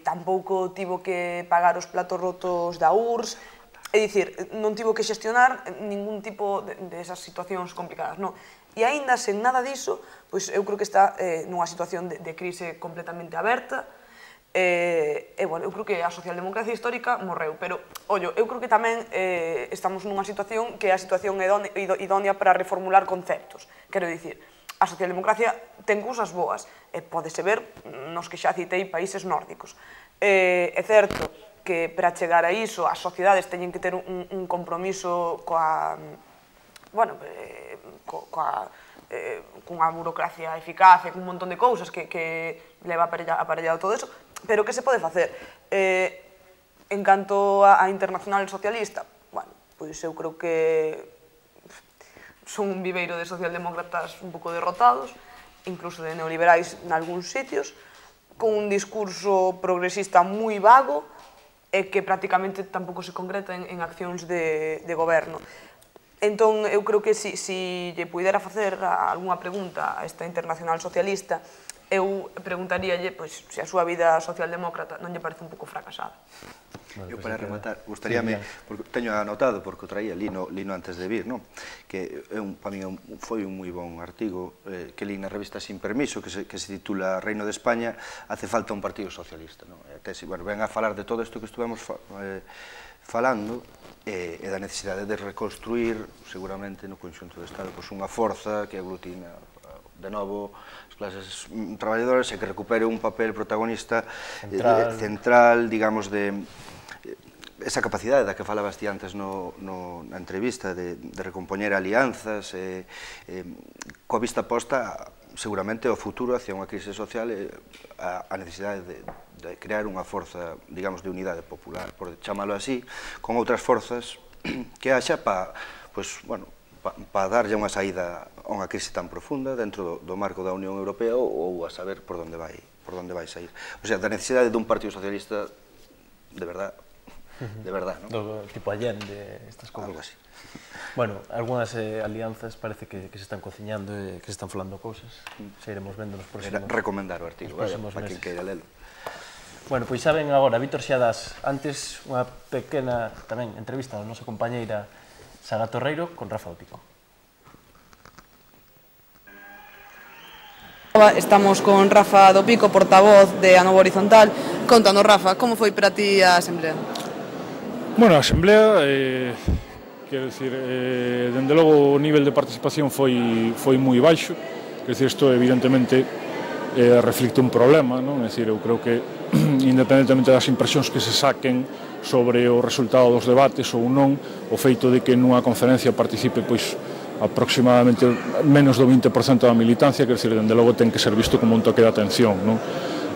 tampouco tivo que pagar os platos rotos da URSS, é dicir, non tivo que xestionar ningún tipo desas situacións complicadas, non? E aínda sen nada diso, pois eu creo que está nunha situación de crise completamente aberta, bueno, eu creo que a socialdemocracia histórica morreu, pero, ollo, eu creo que tamén estamos nunha situación que é a situación idónea para reformular conceptos. Quero dicir, a socialdemocracia ten cousas boas, e podese ver nos que xa citei países nórdicos. É certo que para chegar a iso as sociedades teñen que ter un compromiso cunha burocracia eficaz e cun montón de cousas que leva aparellado todo eso, pero que se pode facer? En canto á internacional socialista, bueno, pois eu creo que son un viveiro de socialdemócratas un pouco derrotados, incluso de neoliberais nalgúns sitios, con un discurso progresista moi vago e que prácticamente tampouco se concreta en accións de goberno. Entón, eu creo que se lle puidera facer algunha pregunta a esta internacional socialista, eu preguntaríalle se a súa vida socialdemócrata non lle parece un pouco fracasada. Eu, para rematar, gustaríame, porque teño anotado, porque o traía lino antes de vir, que para mí foi un moi bon artigo que li na revista Sin Permiso, que se titula Reino de España, hace falta un partido socialista. Ven a falar de todo isto que estuvemos falando, e da necesidade de reconstruir, seguramente, no conxunto do Estado, unha forza que aglutina de novo as clases traballadoras e que recupere un papel protagonista central, digamos, de esa capacidade da que falabas ti antes na entrevista de recompoñer alianzas coa vista posta seguramente ao futuro hacia unha crise social e a necesidade de crear unha forza, digamos, de unidade popular, por chamalo así, con outras forzas que haxa para darlle unha saída a unha crise tan profunda dentro do marco da Unión Europea ou a saber por onde vai sair. O sea, da necesidade dun partido socialista de verdad, non? Do tipo Allende, estas cousas. Algo así. Bueno, algunhas alianzas parece que se están cociñando e que se están falando cousas. Se iremos vendo nos próximos... Recomendar o artigo, para quen queira lelo. Bueno, pois xa ven agora, Vítor Xiadas, antes unha pequena tamén entrevista a nosa compañeira Sara Torreiro con Rafa do Pico. Estamos con Rafa do Pico, portavoz de A Nova Horizontal. Contanos, Rafa, como foi para ti a Asamblea? Bueno, a Asamblea, quero dicir, dende logo o nivel de participación foi moi baixo, quero dicir, isto evidentemente reflicte un problema, non? É dicir, eu creo que independentemente das impresións que se saquen sobre o resultado dos debates ou non, o feito de que nunha conferencia participe pois aproximadamente menos do 20% da militancia, quer dizer, dende logo ten que ser visto como un toque de atención, non?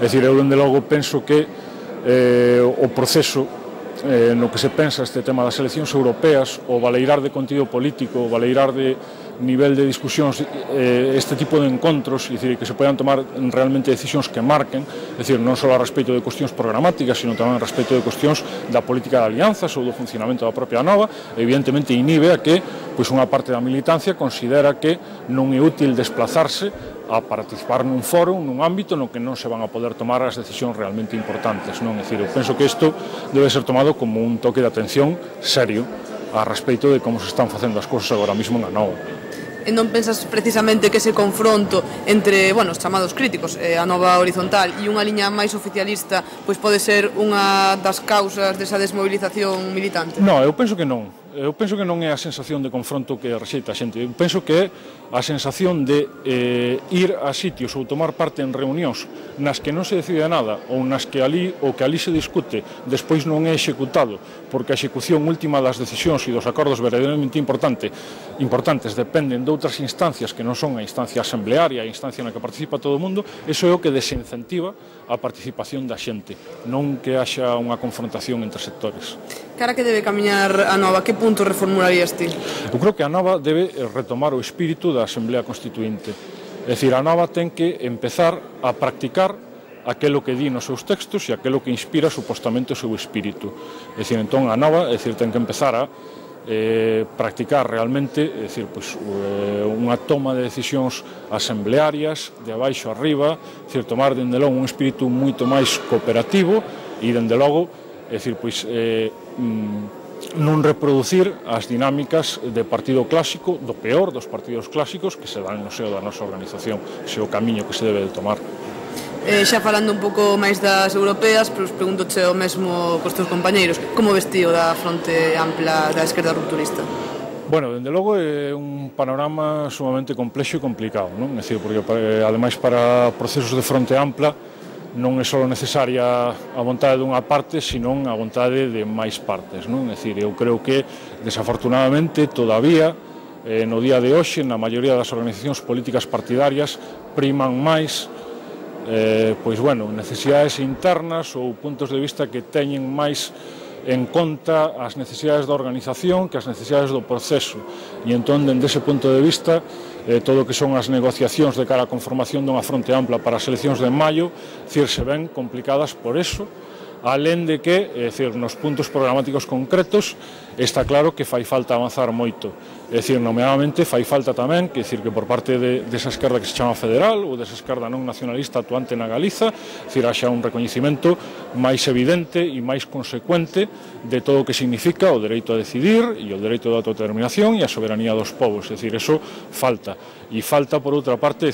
É dicir, eu dende logo penso que o proceso no que se pensa este tema das eleccións europeas, o valeirar de contido político, o valeirar de nivel de discusións, este tipo de encontros, é dicir, que se podan tomar realmente decisións que marquen, é dicir, non só a respecto de cuestións programáticas, sino tamén a respecto de cuestións da política de alianzas ou do funcionamento da propia Anova, evidentemente inhibe a que unha parte da militancia considera que non é útil desplazarse a participar nun foro, nun ámbito no que non se van a poder tomar as decisións realmente importantes, non? É dicir, eu penso que isto debe ser tomado como un toque de atención serio a respecto de como se están facendo as cousas agora mesmo en Anova. E non pensas precisamente que ese confronto entre, bueno, os chamados críticos, a nova horizontal e unha liña máis oficialista, pois pode ser unha das causas desa desmobilización militante? Non, eu penso que non. Eu penso que non é a sensación de confronto que rexeita a xente. Eu penso que é a sensación de ir a sitios ou tomar parte en reunións nas que non se decide nada ou nas que o que ali se discute despois non é executado, porque a execución última das decisións e dos acordos verdadeiramente importantes dependen de outras instancias que non son a instancia asamblearia, a instancia na que participa todo o mundo. Iso é o que desincentiva a participación da xente, non que haxa unha confrontación entre sectores. Cara que debe camiñar a Nova, que punto reformularías ti? Eu creo que a Nova debe retomar o espírito da Asamblea Constituinte. É dicir, a Nova ten que empezar a practicar aquelo que di nos seus textos e aquelo que inspira supostamente o seu espírito. É dicir, entón a Nova ten que empezar a practicar realmente, é dicir, unha toma de decisións asamblearias de abaixo a arriba, é dicir, tomar dende logo un espírito moito máis cooperativo e dende logo, é dicir, non reproducir as dinámicas de partido clásico, do peor dos partidos clásicos que se dan no seo da nosa organización. Ese é o camiño que se debe de tomar. Xa falando un pouco máis das europeas, pero preguntoche o mesmo cos teus compañeiros, como vestío da fronte ampla da esquerda rupturista? Bueno, dende logo é un panorama sumamente complexo e complicado, non? É dicir, porque ademais para procesos de fronte ampla non é só necesaria a vontade dunha parte, senón a vontade de máis partes, non? É dicir, eu creo que, desafortunadamente, todavía, no día de hoxe, na maioría das organizacións políticas partidarias, priman máis necesidades internas ou puntos de vista que teñen máis en conta as necesidades da organización que as necesidades do proceso. E entón, dende ese punto de vista, todo o que son as negociacións de cara á conformación dunha fronte ampla para as eleccións de maio, se ven complicadas por eso, alén de que, nos puntos programáticos concretos, está claro que fai falta avanzar moito. É dicir, nomeadamente, fai falta tamén que por parte desa esquerda que se chama federal ou desa esquerda non nacionalista actuante na Galiza, haxa un recoñecimento máis evidente e máis consecuente de todo o que significa o dereito a decidir e o dereito de autodeterminación e a soberanía dos povos. É dicir, eso falta. E falta, por outra parte,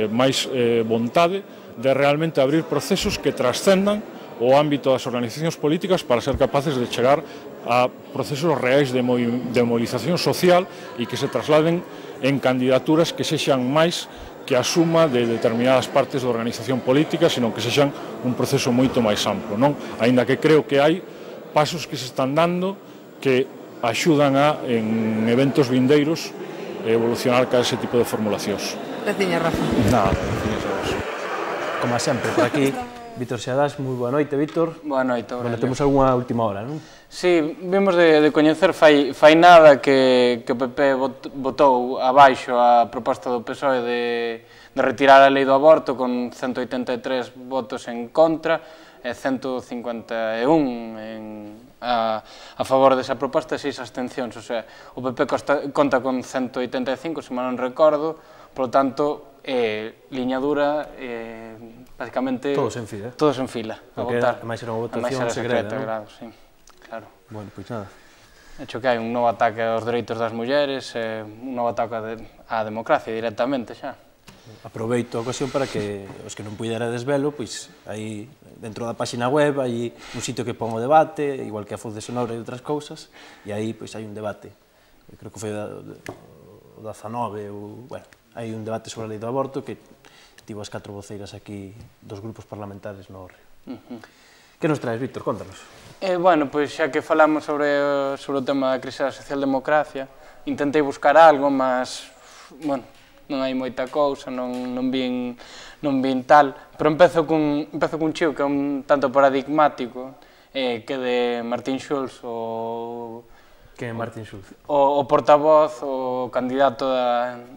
máis vontade de realmente abrir procesos que trascendan o ámbito das organizacións políticas para ser capaces de chegar a procesos reais de movilización social e que se trasladen en candidaturas que sexan máis que a suma de determinadas partes da organización política, senón que sexan un proceso moito máis amplo, non? Aínda que creo que hai pasos que se están dando que axudan a, en eventos vindeiros, evolucionar cada ese tipo de formulacións. Graciña, Rafa. Nada, graciñas a vos. Como sempre, por aquí, Víctor Seadás, moi boa noite, Víctor. Boa noite, Aurelio. Bueno, temos algunha última hora, non? Sí, vimos de coñecer fai nada que o PP votou abaixo a proposta do PSOE de retirar a lei do aborto con 183 votos en contra e 151 a favor desa proposta e 6 abstencións. O sea, o PP conta con 185, se mal non recordo, polo tanto, liña dura, basicamente... Todos en fila. Todos en fila, a votar. Ademais era unha votación secreta, non? Sí, claro. Bueno, pois nada. De hecho, que hai un novo ataque aos dereitos das mulleres, un novo ataque á democracia directamente xa. Aproveito a ocasión para que os que non puidera desvelo, pois aí dentro da páxina web hai un sitio que pon o debate, igual que a Foz de Sonora e outras cousas, e aí pois hai un debate. Eu creo que foi o 19, bueno, hai un debate sobre a lei do aborto que tivo as 4 voceiras aquí dos grupos parlamentares no Río. Que nos traes, Víctor? Contanos. Bueno, pois xa que falamos sobre o tema da crise da socialdemocracia, intentei buscar algo, mas, bueno, non hai moita cousa, non vin tal, pero empezo cun chío que é un tanto paradigmático, quede Martín Schulz, Que é Martín Schulz? O portavoz, o candidato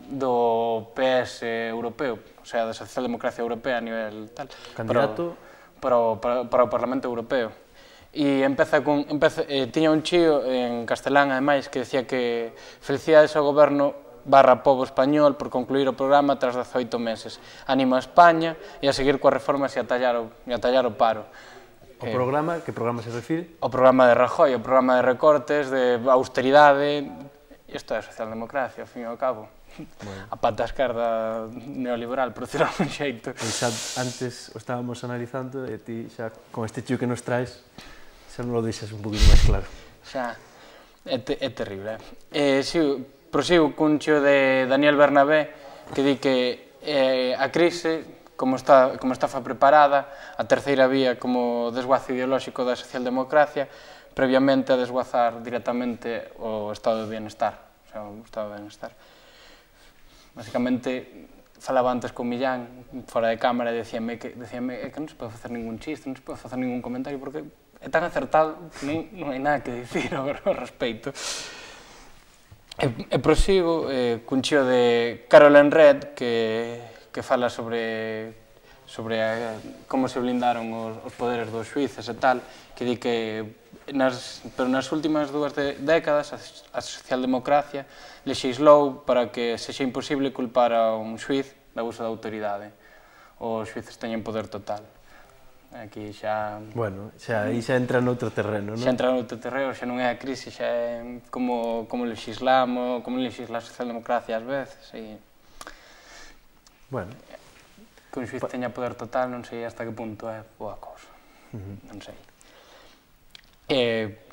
do PS europeo, o sea, da socialdemocracia europea a nivel tal. Candidato? Para o Parlamento Europeo. E tiña un chío en castelán, ademais, que decía que felicidades ao goberno / pobo español por concluir o programa tras 18 meses. Anima a España e a seguir coas reformas e a tallar o paro. O programa, que programa se refire? O programa de Rajoy, o programa de recortes, de austeridade, isto é a socialdemocracia, ao fin e ao cabo. A pata esquerda neoliberal, por decirlo de un xeito. Xa antes o estábamos analizando e ti xa con este chío que nos traes xa non lo deixas un poquinho máis claro. Xa, é terrible. Prosigo cun chío de Daniel Bernabé que di que a crise, como está preparada, a terceira vía como desguazo ideolóxico da socialdemocracia, previamente a desguazar directamente o estado de bienestar, o sea, o estado de bienestar. Básicamente, falaba antes con Millán, fora de cámara, e decíame que non se pode facer ningún chiste, non se pode facer ningún comentario, porque é tan acertado que non hai nada que dicir ao respecto. E prosigo cun chío de Carolyn Red, que fala sobre como se blindaron os poderes dos xuíces e tal, que di que pero nas últimas 2 décadas a socialdemocracia lexislou para que sexa imposible culpar a un xuiz de abuso de autoridade. Os xuíces teñen poder total. Aquí xa... Bueno, aí xa entra noutro terreno, non? Xa entra noutro terreno, xa non é a crise, xa é como legislamos, como legisla a socialdemocracia ás veces, e... Bueno. Que un xuiz teña poder total, non sei hasta que punto é boa cousa. Non sei.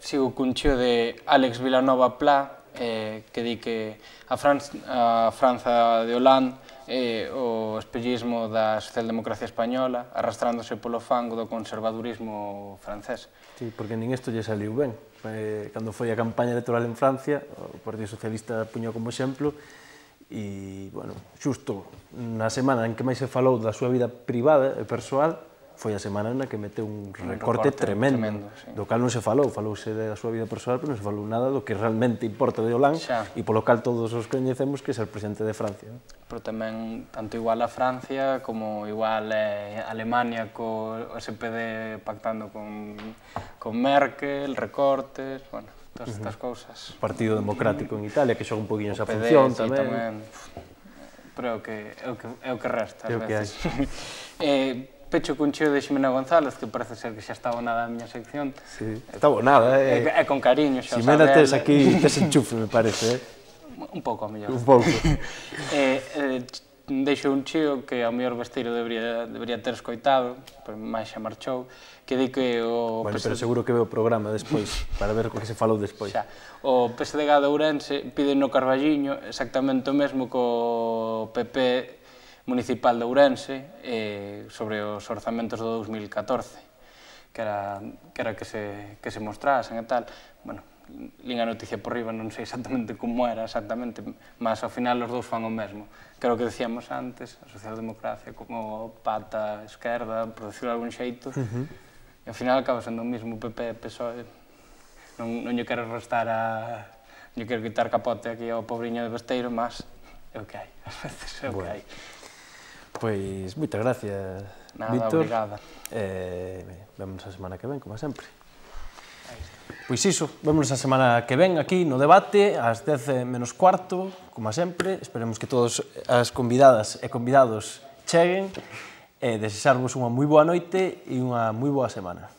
Sigo cun chío de Alex Vilanova Pla, que di que a Franza de Hollande é o espellismo da socialdemocracia española, arrastrándose polo fango do conservadurismo francés. Sí, porque nin isto lle saliu ben. Cando foi a campaña electoral en Francia, o Partido Socialista puño como exemplo, e, bueno, xusto na semana en que máis se falou da súa vida privada e persoal, foi a semana na que meteu un recorte tremendo, do cal non se falou, falouse da súa vida persoal, pero non se falou nada do que realmente importa de Hollande, e polo cal todos os coñecemos que é ser presidente de Francia. Pero tamén, tanto igual a Francia, como igual a Alemania co SPD pactando con Merkel, recortes, bueno, todas estas cousas. O Partido Democrático en Italia, que xoga un poquinho esa función tamén. Pero é o que resta, ás veces. Pecho cun chío de Ximena González, que parece ser que xa está abonada a miña sección. Sí, está abonada, É con cariño, xa Ximena tes aquí, tes enchufe, me parece, Un pouco, a mellor. Un pouco. Deixo un chío que ao mellor Besteiro debería ter escoitado, pero máis xa marchou, que di que o... Bueno, pero seguro que ve o programa despois, para ver o que se falou despois. O PSDG de Ourense pide no Carballiño exactamente o mesmo co PP municipal de Ourense sobre os orzamentos do 2014, que era que se mostrasen e tal. Bueno, lín a noticia por riba, non sei exactamente como era exactamente, mas ao final os dous fan o mesmo. Que era o que decíamos antes, a socialdemocracia como pata esquerda, por decirlo de algún xeito, e ao final acaba sendo o mismo PP e PSOE. Non lle quero restar non lle quero quitar capote aquí ao pobriño de Besteiro, mas é o que hai, ás veces é o que hai. Pois, moitas gracias, Víctor. Obrigada. Vémonos a semana que ven, como sempre. Pois iso, vémonos a semana que ven aquí no debate, ás 10 menos cuarto, como sempre. Esperemos que todos as convidadas e convidados cheguen e desexarvos unha moi boa noite e unha moi boa semana.